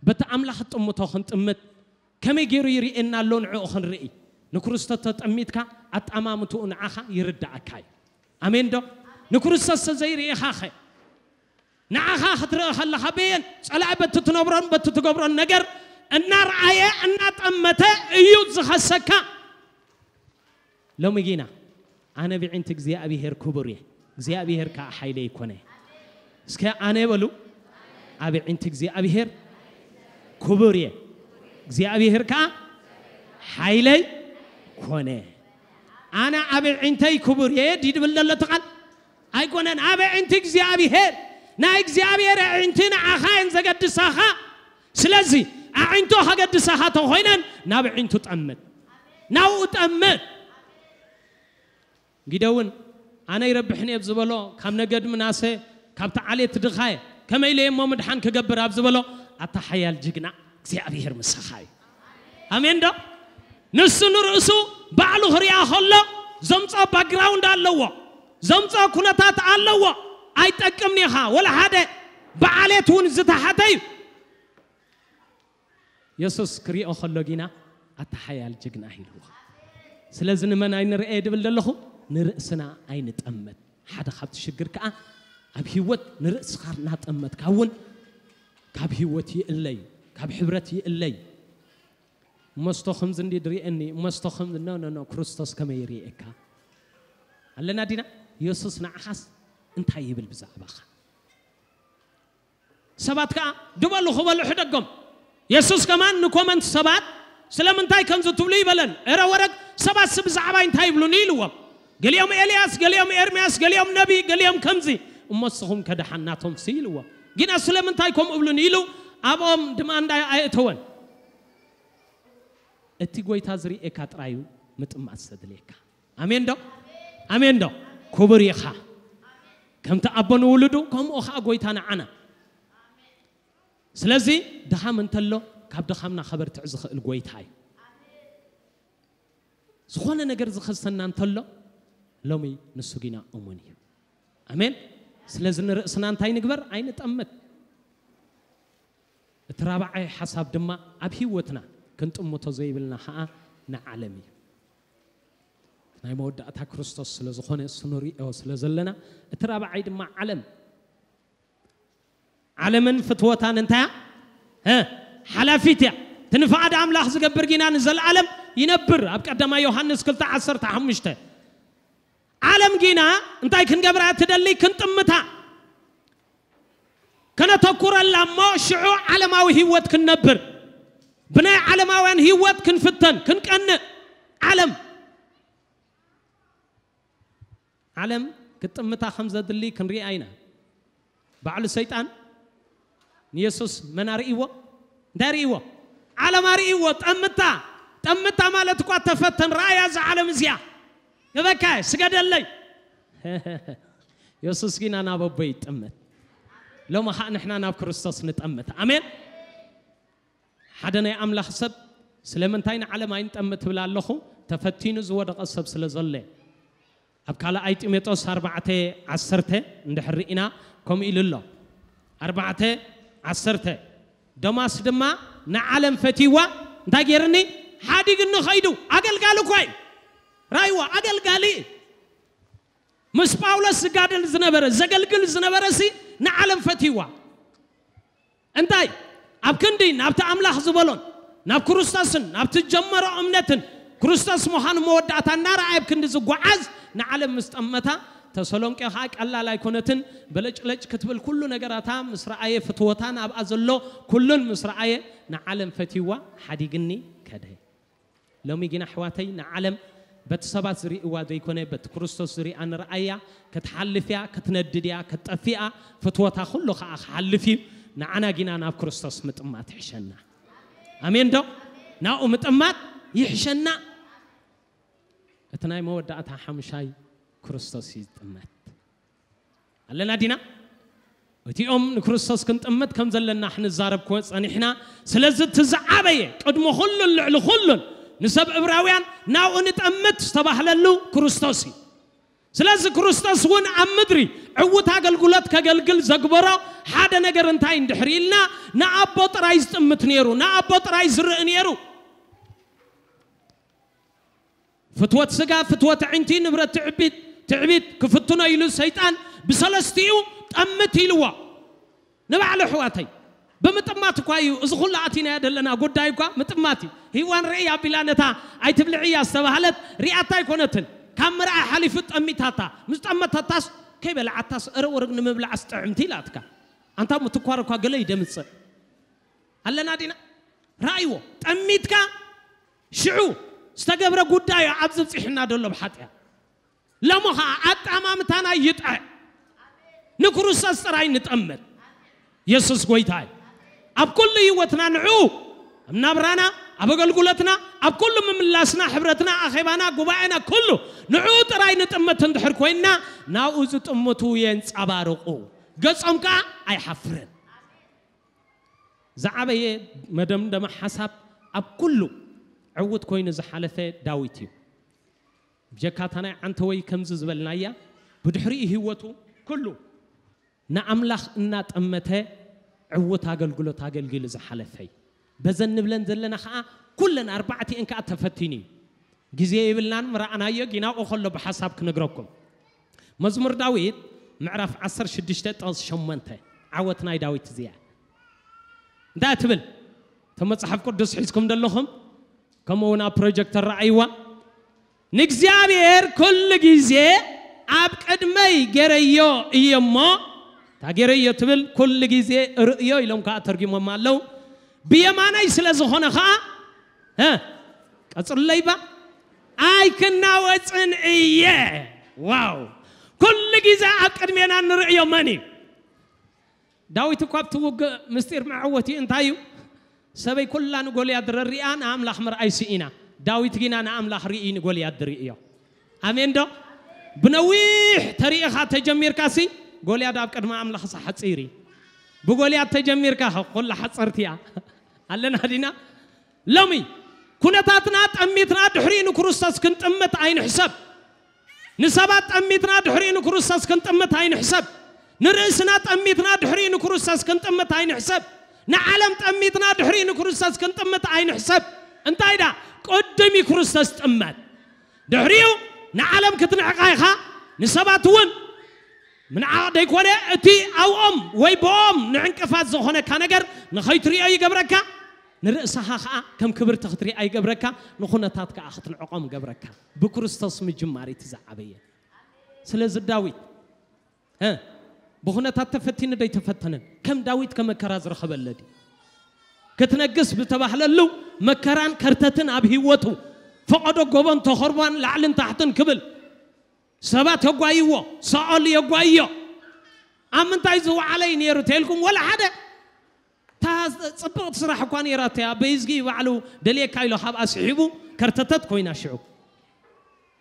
በቲ ኣምላኽ ጥምቶ ክንጥምት ከመይ ገይሩ ይርእየና ኣሎ ንዕኡ ክንርኢ ንክርስቶስ ተጠሚትካ ኣጣማምትኡ ንዓኻ ይርዳእካ እዩ ኣሜን ዶ ንክርስቶስ ተዘይርእኻኸ ንዓኻ ክትርኢ ከለኻ በየን ጸላኢ በቲ ትነብሮን በቲ ትገብሮን ነገር እናረኣየ እናጠመተ እዩ ዝኸሰካ ሎሚ ጊና ኣነ ብዒንቲ እግዚኣብሔር ክቡር እየ እግዚኣብሔር ከዓ ሓይለይ ይኮነ እስከ ኣነ በሉ ኣብ ዒንቲ እግዚኣብሔር ክቡር እየ እግዚኣብሔር ከዓ ሓይለይ ኮነ ኣነ ኣብ ዒንተይ ክቡር እየ ድድብል ዘሎ ትቃል ኣይኮነን ኣብ ዒንቲ እግዚኣብሔር ናይ እግዚኣብሔር ዒንቲ ንዓኻ እየን ዘገድሳኻ ስለዚ ኣዒንቶ ከገድሳኻ ተኾይነን ናብ ዒንቱ ጠምት ናብኡ ጠምት ግደ እውን ኣነ ይረብሕን እየ ኣብ ዝበሎ ካብ ነገድ ምናሰ ካብቲ ዓሌት ድኻየ ከመይ ኢለ እሞ ምድሓን ክገብር ኣብ ዝበሎ ኣታ ሓያል ጅግና እግዚኣብሔር ምሳኻ እዩ ኣሜን ዶ ንሱ ንርእሱ ባዕሉ ክሪኣ ከሎ ዘምፅኦ ባክግራውንድ ኣለዎ ዘምፅኦ ኩነታት ኣለዎ ኣይጠቅምን ኢኻ ወላ ሓደ ብዓሌት እውን ዝተሓተ እዩ የሱስ ክሪኦ ከሎ ጊና ኣታ ሓያል ጅግና ኢልዎ ስለዚ ንመን ኣይንርኤ ድብል ዘለኹ ንርእስና ኣይንጠምት ሓደ ካብቲ ሽግር ከዓ ኣብ ህይወት ንርእስኻ እናጠመትካ እውን ካብ ህይወት ይእለዩ ካብ ሕብረት ይእለዩ እመስቶ ከምዚ እንዲ ድርእየኒ እመስቶ ከም ኖ ኖ ኖ ክርስቶስ ከመይ ይርእየካ ኣለና ዲና የሱስ ንዓኻስ እንታይ ይብል ብዛዕባኻ ሰባት ከዓ ድበሉ ክበሉ ሕደጎም የሱስ ከማን ንኮመንት ሰባት ስለምንታይ ከምዚ ትብሉ ይበለን እረ ወረግ ሰባት ስ ብዛዕባይ እንታይ ይብሉኒ ኢልዎም ገሊኦም ኤልያስ ገሊኦም ኤርምያስ ገሊኦም ነቢ ገሊኦም ከምዚ እሞ ንስኹም ከደሓን ናቶም ሲ ኢልዎም ግና ስለምንታይ ከምኡ እብሉኒ ኢሉ ኣብኦም ድማ እንዳይ ኣየእተወን እቲ ጎይታ ዝርእየካ ጥራዩ ምጥማት ዘድልየካ ኣሜን ዶ ኣሜን ዶ ክቡር ኢኻ ከምቲ ኣቦ ንውሉዱ ከምኡ ኸዓ ጎይታ ንዓና ስለዚ ድኻም እንተሎ ካብ ድኻምና ከበርትዕ ዝኽእል ጎይታ እዩ ዝኾነ ነገር ዝኸሰና እንተሎ ሎሚ ንሱ ጊና እሙን እዩ ኣሜን ስለዚ ንርእስና እንታይ ንግበር ኣይንጠምት እቲ ራብዓይ ሓሳብ ድማ ኣብ ህይወትና ክንጥምቶ ዘይብልና ኸዓ ንዓለም እዩ ናይ መወዳእታ ክርስቶስ ስለ ዝኾነ እሱ ንሪኦ ስለ ዘለና እቲ ራብዓይ ድማ ዓለም ዓለምን ፍትወታን እንታያ ሓላፊት እያ ትንፍዓድ ኣምላኽ ዝገብር ጊና ንዘለዓለም ይነብር ኣብ ቀዳማ ዮሃንስ ክልተ ዓሰርተ ሓሙሽተ ዓለም ጊና እንታይ ክንገብራ ትደሊ ክንጥምታ ከነተኩረላ እሞ ሽዑ ዓለማዊ ህይወት ክንነብር ብናይ ዓለማውያን ህይወት ክንፍተን ክንቀንእ ዓለም ዓለም ክትጥምታ ከም ዘድሊ ክንሪኣ ኢና ባዕሉ ሰይጣን ንየሱስ መን ኣርእይዎ እንታይ ርእይዎ ዓለም ኣርእይዎ ጠምታ ጠምታ ማለት እኳ ተፈተን ረኣያ እዛ ዓለም እዚኣ ገበካ ስገደለይ የሱስ ጊና ናብ ኣቦ ይጠምት ሎሚ ኸዓ ንሕና ናብ ክርስቶስ ንጠምት ኣሜን ሓደ ናይ ኣምላኽ ሰብ ስለምንታይ ንዓለም ኣይንጠምት ትብል ኣለኹ ተፈቲኑ ዝወደቐ ሰብ ስለ ዘሎ ኣብ ካልኣይ ጢሞቴዎስ ኣርባዕተ ዓሰርተ እንድሕር ርኢና ከምኡ ኢሉ ኣሎ ኣርባዕተ ዓሰርተ ቶማስ ድማ ንዓለም ፈትይዋ እንታይ ገይርኒ ሓዲግኒ ኸይዱ ኣገልጋሊ እኳ እዩ። ራይዋ ኣገልጋሊ እዩ። ምስ ጳውሎስ ዝጋደል ዝነበረ ዘገልግል ዝነበረ ሲ ንዓለም ፈትይዋ እንታይ ኣብ ክንዲ ናብቲ ኣምላኽ ዝበሎን ናብ ክርስቶስን ናብቲ ጀመሮ እምነትን ክርስቶስ ምዃኑ መወዳእታ እናረኣየ ኣብ ክንዲ ዝጓዓዝ ንዓለም ምስ ጠመታ ተሰሎንቄ ኸዓ ቀላል ኣይኮነትን። በለጭለጭ ክትብል ኩሉ ነገራታ ምስ ረኣየ ፍትወታን ኣብኣ ዘሎ ኩሉን ምስ ረኣየ ንዓለም ፈትይዋ ሓዲግኒ ከደ። ሎሚ ግን ኣሕዋተይ ንዓለም በቲ ሰባት ዝርእይዋ ዘይኮነ በቲ ክርስቶስ ዝርእያ ንርኣያ። ክትሓልፍ እያ፣ ክትነድድ እያ፣ ክትጠፍእ እያ። ፍትወታ ኩሉ ከዓ ክሓልፍ እዩ። ንዓና ጊና ናብ ክርስቶስ ምጥማት ይሕሸና። ኣሜን ዶ? ናብኡ ምጥማት ይሕሸና። እቲ ናይ መወዳእታ ሓምሻይ ክርስቶስ እዩ ዝጥመት። ኣለና ዲና? እቲኦም ንክርስቶስ ክንጥምት ከም ዘለና ክንዛረብ ክወ ጸኒሕና። ስለዚ እቲ ዝዓበየ ቅድሚ ኩሉን ልዕሊ ኩሉን ንሰብ እብራውያን ናብኡ ንጠምት ዝተባህለሉ ክርስቶስ እዩ። ስለዚ ክርስቶስ እውን ኣብ ምድሪ ዕውት ኣገልግሎት ከገልግል ዘግበሮ ሓደ ነገር እንታይ እንድሕር ኢልና ንኣቦ ጥራይ ዝጥምት ነይሩ፣ ንኣቦ ጥራይ ዝርኢ ነይሩ። ፍትወት ስጋ፣ ፍትወት ዕንቲ፣ ንብረት ትዕቢት፣ ትዕቢት ክፍትኖ ኢሉ ሰይጣን ብሰለስቲኡ ጠምት ኢልዎ። ንባዕሉ ኣሕዋተይ ብምጥማት እኳ እዩ እዚ ኩሉ ኣቲናዮ ዘለና ጉዳይ እኳ ምጥማት እዩ። ሂዋን ርእይ ኣቢላ ነታ ኣይትብልዕያ ዝተባህለት ሪኣታ ኣይኮነትን። ካብ ምርኣይ ሓሊፉ ጠሚታታ። ምስ ጠመተታስ ከይበልዓታስ እረ ወርግ ንምብላዕስ ጥዕምቲ ኢላትካ። ኣንታ ምትኳር እኳ ገለ ይደምፅእ ኣለና ዲና? ረኣይዎ ጠሚትካ ሽዑ ዝተገብረ ጉዳዩ ኣብዚ ብፂሕና ደሎ ብሓጢያ ሎሞ ኸዓ ኣጣማምታና ይጥዐ ንክርስቶስ ጥራይ ንጠምት። የሱስ ጎይታ እዩ። ኣብ ኩሉ ህይወትና ንዑ ኣብ ናብራና ኣብ ኣገልግሎትና ኣብ ኩሉ ምምላስና ሕብረትና ኣኼባና ጉባኤና ኩሉ ንዑ ጥራይ ንጥምት እንድሕር ኮይንና ናብኡ ዝጥምቱ የንጸባርቑ ገጾም ከዓ ኣይሓፍርን። ዝዓበየ መደምደማ ሓሳብ ኣብ ኩሉ ዕውት ኮይኑ ዝሓለፈ ዳዊት እዩ። ብጀካታ ናይ ዓንተወይ ከምዚ ዝበልናያ ብድሕሪኡ ህይወቱ ኩሉ ንኣምላኽ እናጠመተ ዕውት ኣገልግሎት ኣገልጊሉ ዝሓለፈ እዩ። በዘን ንብለን ዘለና ኸዓ ኩለን ኣርባዕቲኤን ከኣ ተፈቲኑ እዩ። ግዜ የብልናን ምረኣናዮ ጊናቆ ከሎ ብሓሳብ ክነግረኩም። መዝሙር ዳዊት ምዕራፍ ዓሰርተ ሽዱሽተ ጥቕሲ ሸሞንተ ዓወት ናይ ዳዊት እዚኣ እንታይ ትብል? እቶም መጽሓፍ ቅዱስ ሒዝኩም ዘለኹም ከምኡ እውን ኣብ ፕሮጀክተር ረኣይዋ። ንእግዚኣብሔር ኩሉ ግዜ ኣብ ቅድመይ ገረዮ እየ እሞ እታ ገረዮ ትብል ኩሉ ግዜ ርእዮ ኢሎም ከዓ ተርጊሞማ ኣለዉ። ብየማነይ ስለ ዝኾነ ከዓ እ ቀፅሉለይ ባ ኣይክናወፅን እየ። ዋው ኩሉ ግዜ ኣብ ቅድሜና ንርእዮ መን እዩ? ዳዊት እኳ ኣብቲ ውግእ ምስጢር መዐወቲ እንታይ እዩ? ሰበይ ኩላ ንጎልያድ ረሪኣ ንኣምላኽ ምርኣይ ስኢና። ዳዊት ጊና ንኣምላኽ ርኢ ንጎልያድ ርእዮ። ኣሜን ዶ? ብነዊሕ ተሪኢኻ ተጀሚርካ ሲ ጎልያድ ኣብ ቅድሚ ኣምላኽ ሓፂር እዩ። ብጎልያድ ተጀሚርካ ኩላ ሓፀርቲ እያ። ኣለና ዲና? ሎሚ ኩነታትና ጠሚትና ድሕሪኡ ንክርስቶስ ክንጥምት ኣይንሕሰብ። ንሰባት ጠሚትና ድሕሪኡ ንክርስቶስ ክንጥምት ኣይንሕሰብ። ንርእስና ጠሚትና ድሕሪኡ ንክርስቶስ ክንጥምት ኣይንሕሰብ። ንዓለም ጠሚትና ድሕሪኡ ንክርስቶስ ክንጥምት ኣይንሕሰብ። እንታይ ዳ ቅድም እዩ ክርስቶስ ጥመት። ድሕሪኡ ንዓለም ክትንዕቃ ኢኻ። ንሰባት እውን ምንዓቕ ደይኮነ እቲ ኣብኦም ወይ ብኦም ንዕንቅፋት ዝኾነካ ነገር ንኸይትሪኦ ይገብረካ። ንርእስኻ ኸዓ ከም ክብርቲ ክትሪኣ ይገብረካ። ንኹነታት ከኣ ክትንዕቖም ገብረካ። ብክርስቶስ ምጅማር እቲ ዝዓበየ። ስለዚ ዳዊት እ ብኹነታት ተፈቲኑ ደይተፈተነን ከም ዳዊት ከመከራ ዝረኸበለ ድዩ? ክትነግስ ብተባህለሉ መከራን ከርተትን ኣብ ህይወቱ ፈቐዶ ጎቦን ተኸርቧን ላዕልን ታሕትን ክብል ሰባት የጓይዎ፣ ሳኦል የጓይዮ። ኣብ ምንታይ ዝወዓለ እዩ ነይሩ ተልኩም ወላ ሓደ እታ ጽብቕቲ ስራሕ እኳ ነይራቶ እያ። በይዝጊ ባዕሉ ደልየካ ኢሎ ካብኣ ስሒቡ ከርተተት ኮይና ሽዑ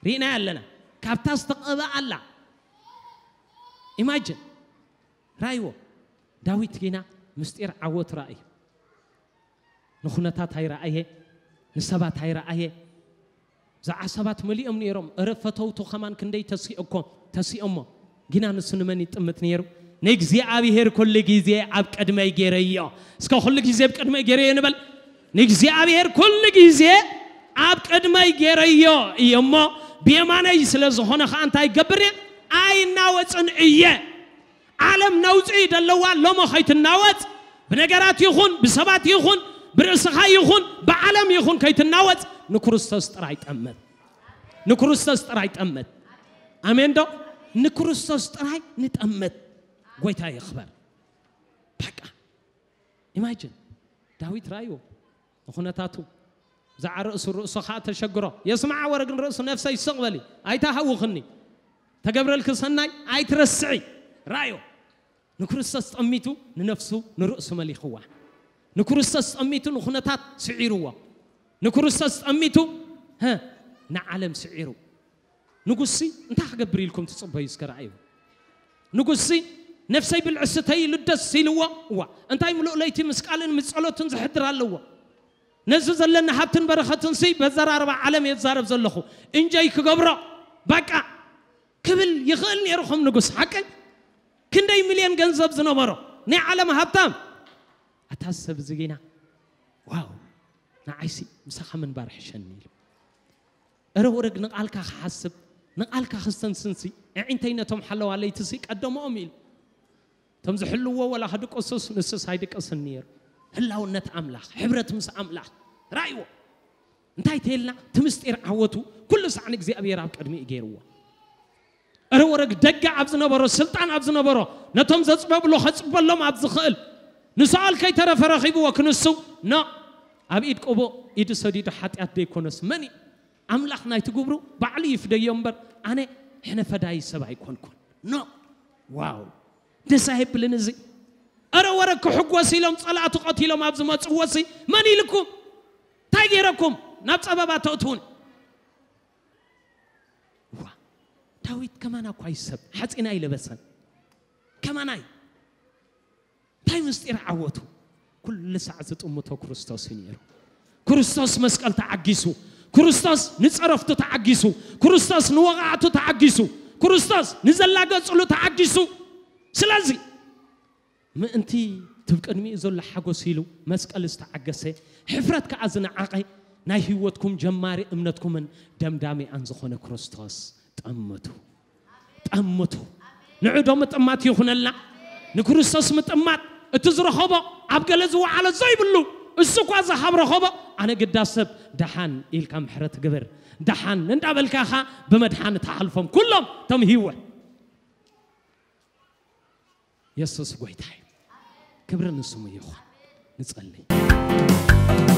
ርኢናያ ኣለና። ካብታ ዝተቐብኣ ኣላ ኢማጅን ራይዎ ዳዊት ጊና ምስጢር ዓወት ራእዩ ንኹነታት ኣይረኣየ ንሰባት ኣይረኣየ ዝዓ ሰባት መሊኦም ነይሮም እረ ፈተውቱ ከማን ክንደይ ተሲኦኮ ተሲኦሞ ጊና ንሱ ንመን ይጥምት ነይሩ ንእግዚኣብሔር ኩሉ ግዜ ኣብ ቅድመይ ገይረዮ። እስከ ኩሉ ግዜ ኣብ ቅድመይ ገይረዮ ንበል። ንእግዚኣብሔር ኩሉ ግዜ ኣብ ቅድመይ ገይረዮ እየ እሞ፣ ብየማነይ ስለ ዝኾነ ኸኣ እንታይ ይገብር እየ? ኣይናወጽን እየ። ዓለም ነውጺ ደለዋ ሎሞ ኸይትናወጽ፣ ብነገራት ይኹን ብሰባት ይኹን ብርእስኻ ይኹን ብዓለም ይኹን ከይትናወጽ፣ ንክርስቶስ ጥራይ ጠመት። ንክርስቶስ ጥራይ ጠመት። ኣሜን ዶ? ንክርስቶስ ጥራይ ንጠመት። ጎይታ ይኽበር። በቃ ኢማጅን፣ ዳዊት ራእዩ ንኹነታቱ ብዛዕባ ርእሱ፣ ርእሱ ኸዓ ተሸግሮ። የስምዓ ወረ ግን ርእሱ፣ ነፍሰይ ስቕ በሊ፣ ኣይትሃውኽኒ፣ ተገብረልኪ ሰናይ ኣይትረስዒ። ራእዩ ንክርስቶስ ጠሚቱ ንነፍሱ ንርእሱ መሊኽዋ። ንክርስቶስ ጠሚቱ ንኹነታት ስዒርዎ። ንክርስቶስ ጠሚቱ፣ ሀ፣ ንዓለም ስዒሩ። ንጉስሲ እንታይ ክገብር ኢልኩም ትጽበዩ? እስከ ረኣዩ። ንጉስሲ ነፍሰይ ብልዕስተይ ኢሉ ደስ ኢልዎ። እዋ እንታይ ምሉእ ለይቲ ምስ ቃልን ምስ ጸሎትን ዝሕድር ኣለዎ። ነዚ ዘለኒ ሃብትን በረኸትንሲ በዘራርባ ዓለም የዛረብ ዘለኹ እንጀይ ክገብሮ በቃ ክብል ይኽእል ነይሩ ከም ንጉስ። ሓቀይ ክንደይ ሚልዮን ገንዘብ ዝነበሮ ናይ ዓለም ሃብታም። ኣታ ሰብ ዝጌና ዋው ንዓይሲ ምሳኻ ምንባር ሕሸኒ ኢሉ። እረ ወረግ ንቓልካ ክሓስብ ንቓልካ ክስተንስንሲ፣ ኣዒንተይ ነቶም ሓለዋ ለይትሲ ቀደምኦም ኢሉ። እቶም ዝሕልዎ ወላ ክድቅሱስ ንሱስ ኣይድቅስን ነይሩ። ህላውነት ኣምላኽ፣ ሕብረት ምስ ኣምላኽ ራእይዎ። እንታይ ተልና? እቲ ምስጢር ዓወቱ ኩሉ ሳዕ ንእግዚኣብሔር ኣብ ቅድሚኡ ገይርዎ። እረ ወረግ ደገ ኣብ ዝነበሮ፣ ስልጣን ኣብ ዝነበሮ፣ ነቶም ዘጽበብሉ ከጽበሎም ኣብ ዝኽእል ንሰኣል ከይተረፈ ረኺብዎ ክንሱ ኖ። ኣብ ኢድ ቅቡእ ኢዱ ሰዲዱ ሓጢኣት ደይኮነስ መን እዩ? ኣምላኽ ናይቲ ግብሩ ባዕሉ ይፍደዮ እምበር ኣነ ሕነ ፈዳይ ሰብ ኣይኮንኩን። ኖ። ዋው ደስ ኣይብልን እዚ። እረ ወረ ክሕጎስ ኢሎም ጸላእቱ ቀቲሎም ኣብ ዝመጽዎ ሲ መን ኢልኩም? እንታይ ገይረኩም ናብ ጸበባ ተእትውን? ዋ ዳዊት ከማና እኳ ይሰብ ሓጺን ኣይለበሰን። ከማናይ እንታይ ምስጢር ዓወቱ? ኩሉ ሳዕ ዝጥምቶ ክርስቶስ እዩ ነይሩ። ክርስቶስ መስቀል ተዓጊሱ፣ ክርስቶስ ንጸረፍቱ ተዓጊሱ፣ ክርስቶስ ንወቓዕቱ ተዓጊሱ፣ ክርስቶስ ንዘላገጽሉ ተዓጊሱ። ስለዚ ምእንቲ ትብ ቅድሚኡ ዘሎ ሓጎስ ኢሉ መስቀል ዝተዓገሰ፣ ሕፍረት ከኣ ዝነዓቐ፣ ናይ ህይወትኩም ጀማሪ እምነትኩምን ደምዳሚኣን ዝኾነ ክርስቶስ ጠምቱ። ጠምቱ። ንዑ ዶ ምጥማት ይኹነልና? ንክርስቶስ ምጥማት እቲ ዝረኸቦ ኣብ ገለ ዝወዓሎ ዘይብሉ እሱ እኳ ዝሃብ ረኸቦ። ኣነ ግዳ ሰብ ደሓን ኢልካ ምሕረት ግብር፣ ደሓን እንዳበልካ ኢኻ ብመድሓኒ ትሓልፎም ኩሎም እቶም ህይወት። የሱስ ጎይታ እዩ። ክብሪ ንስሙ ይኹን። ንጸልይ።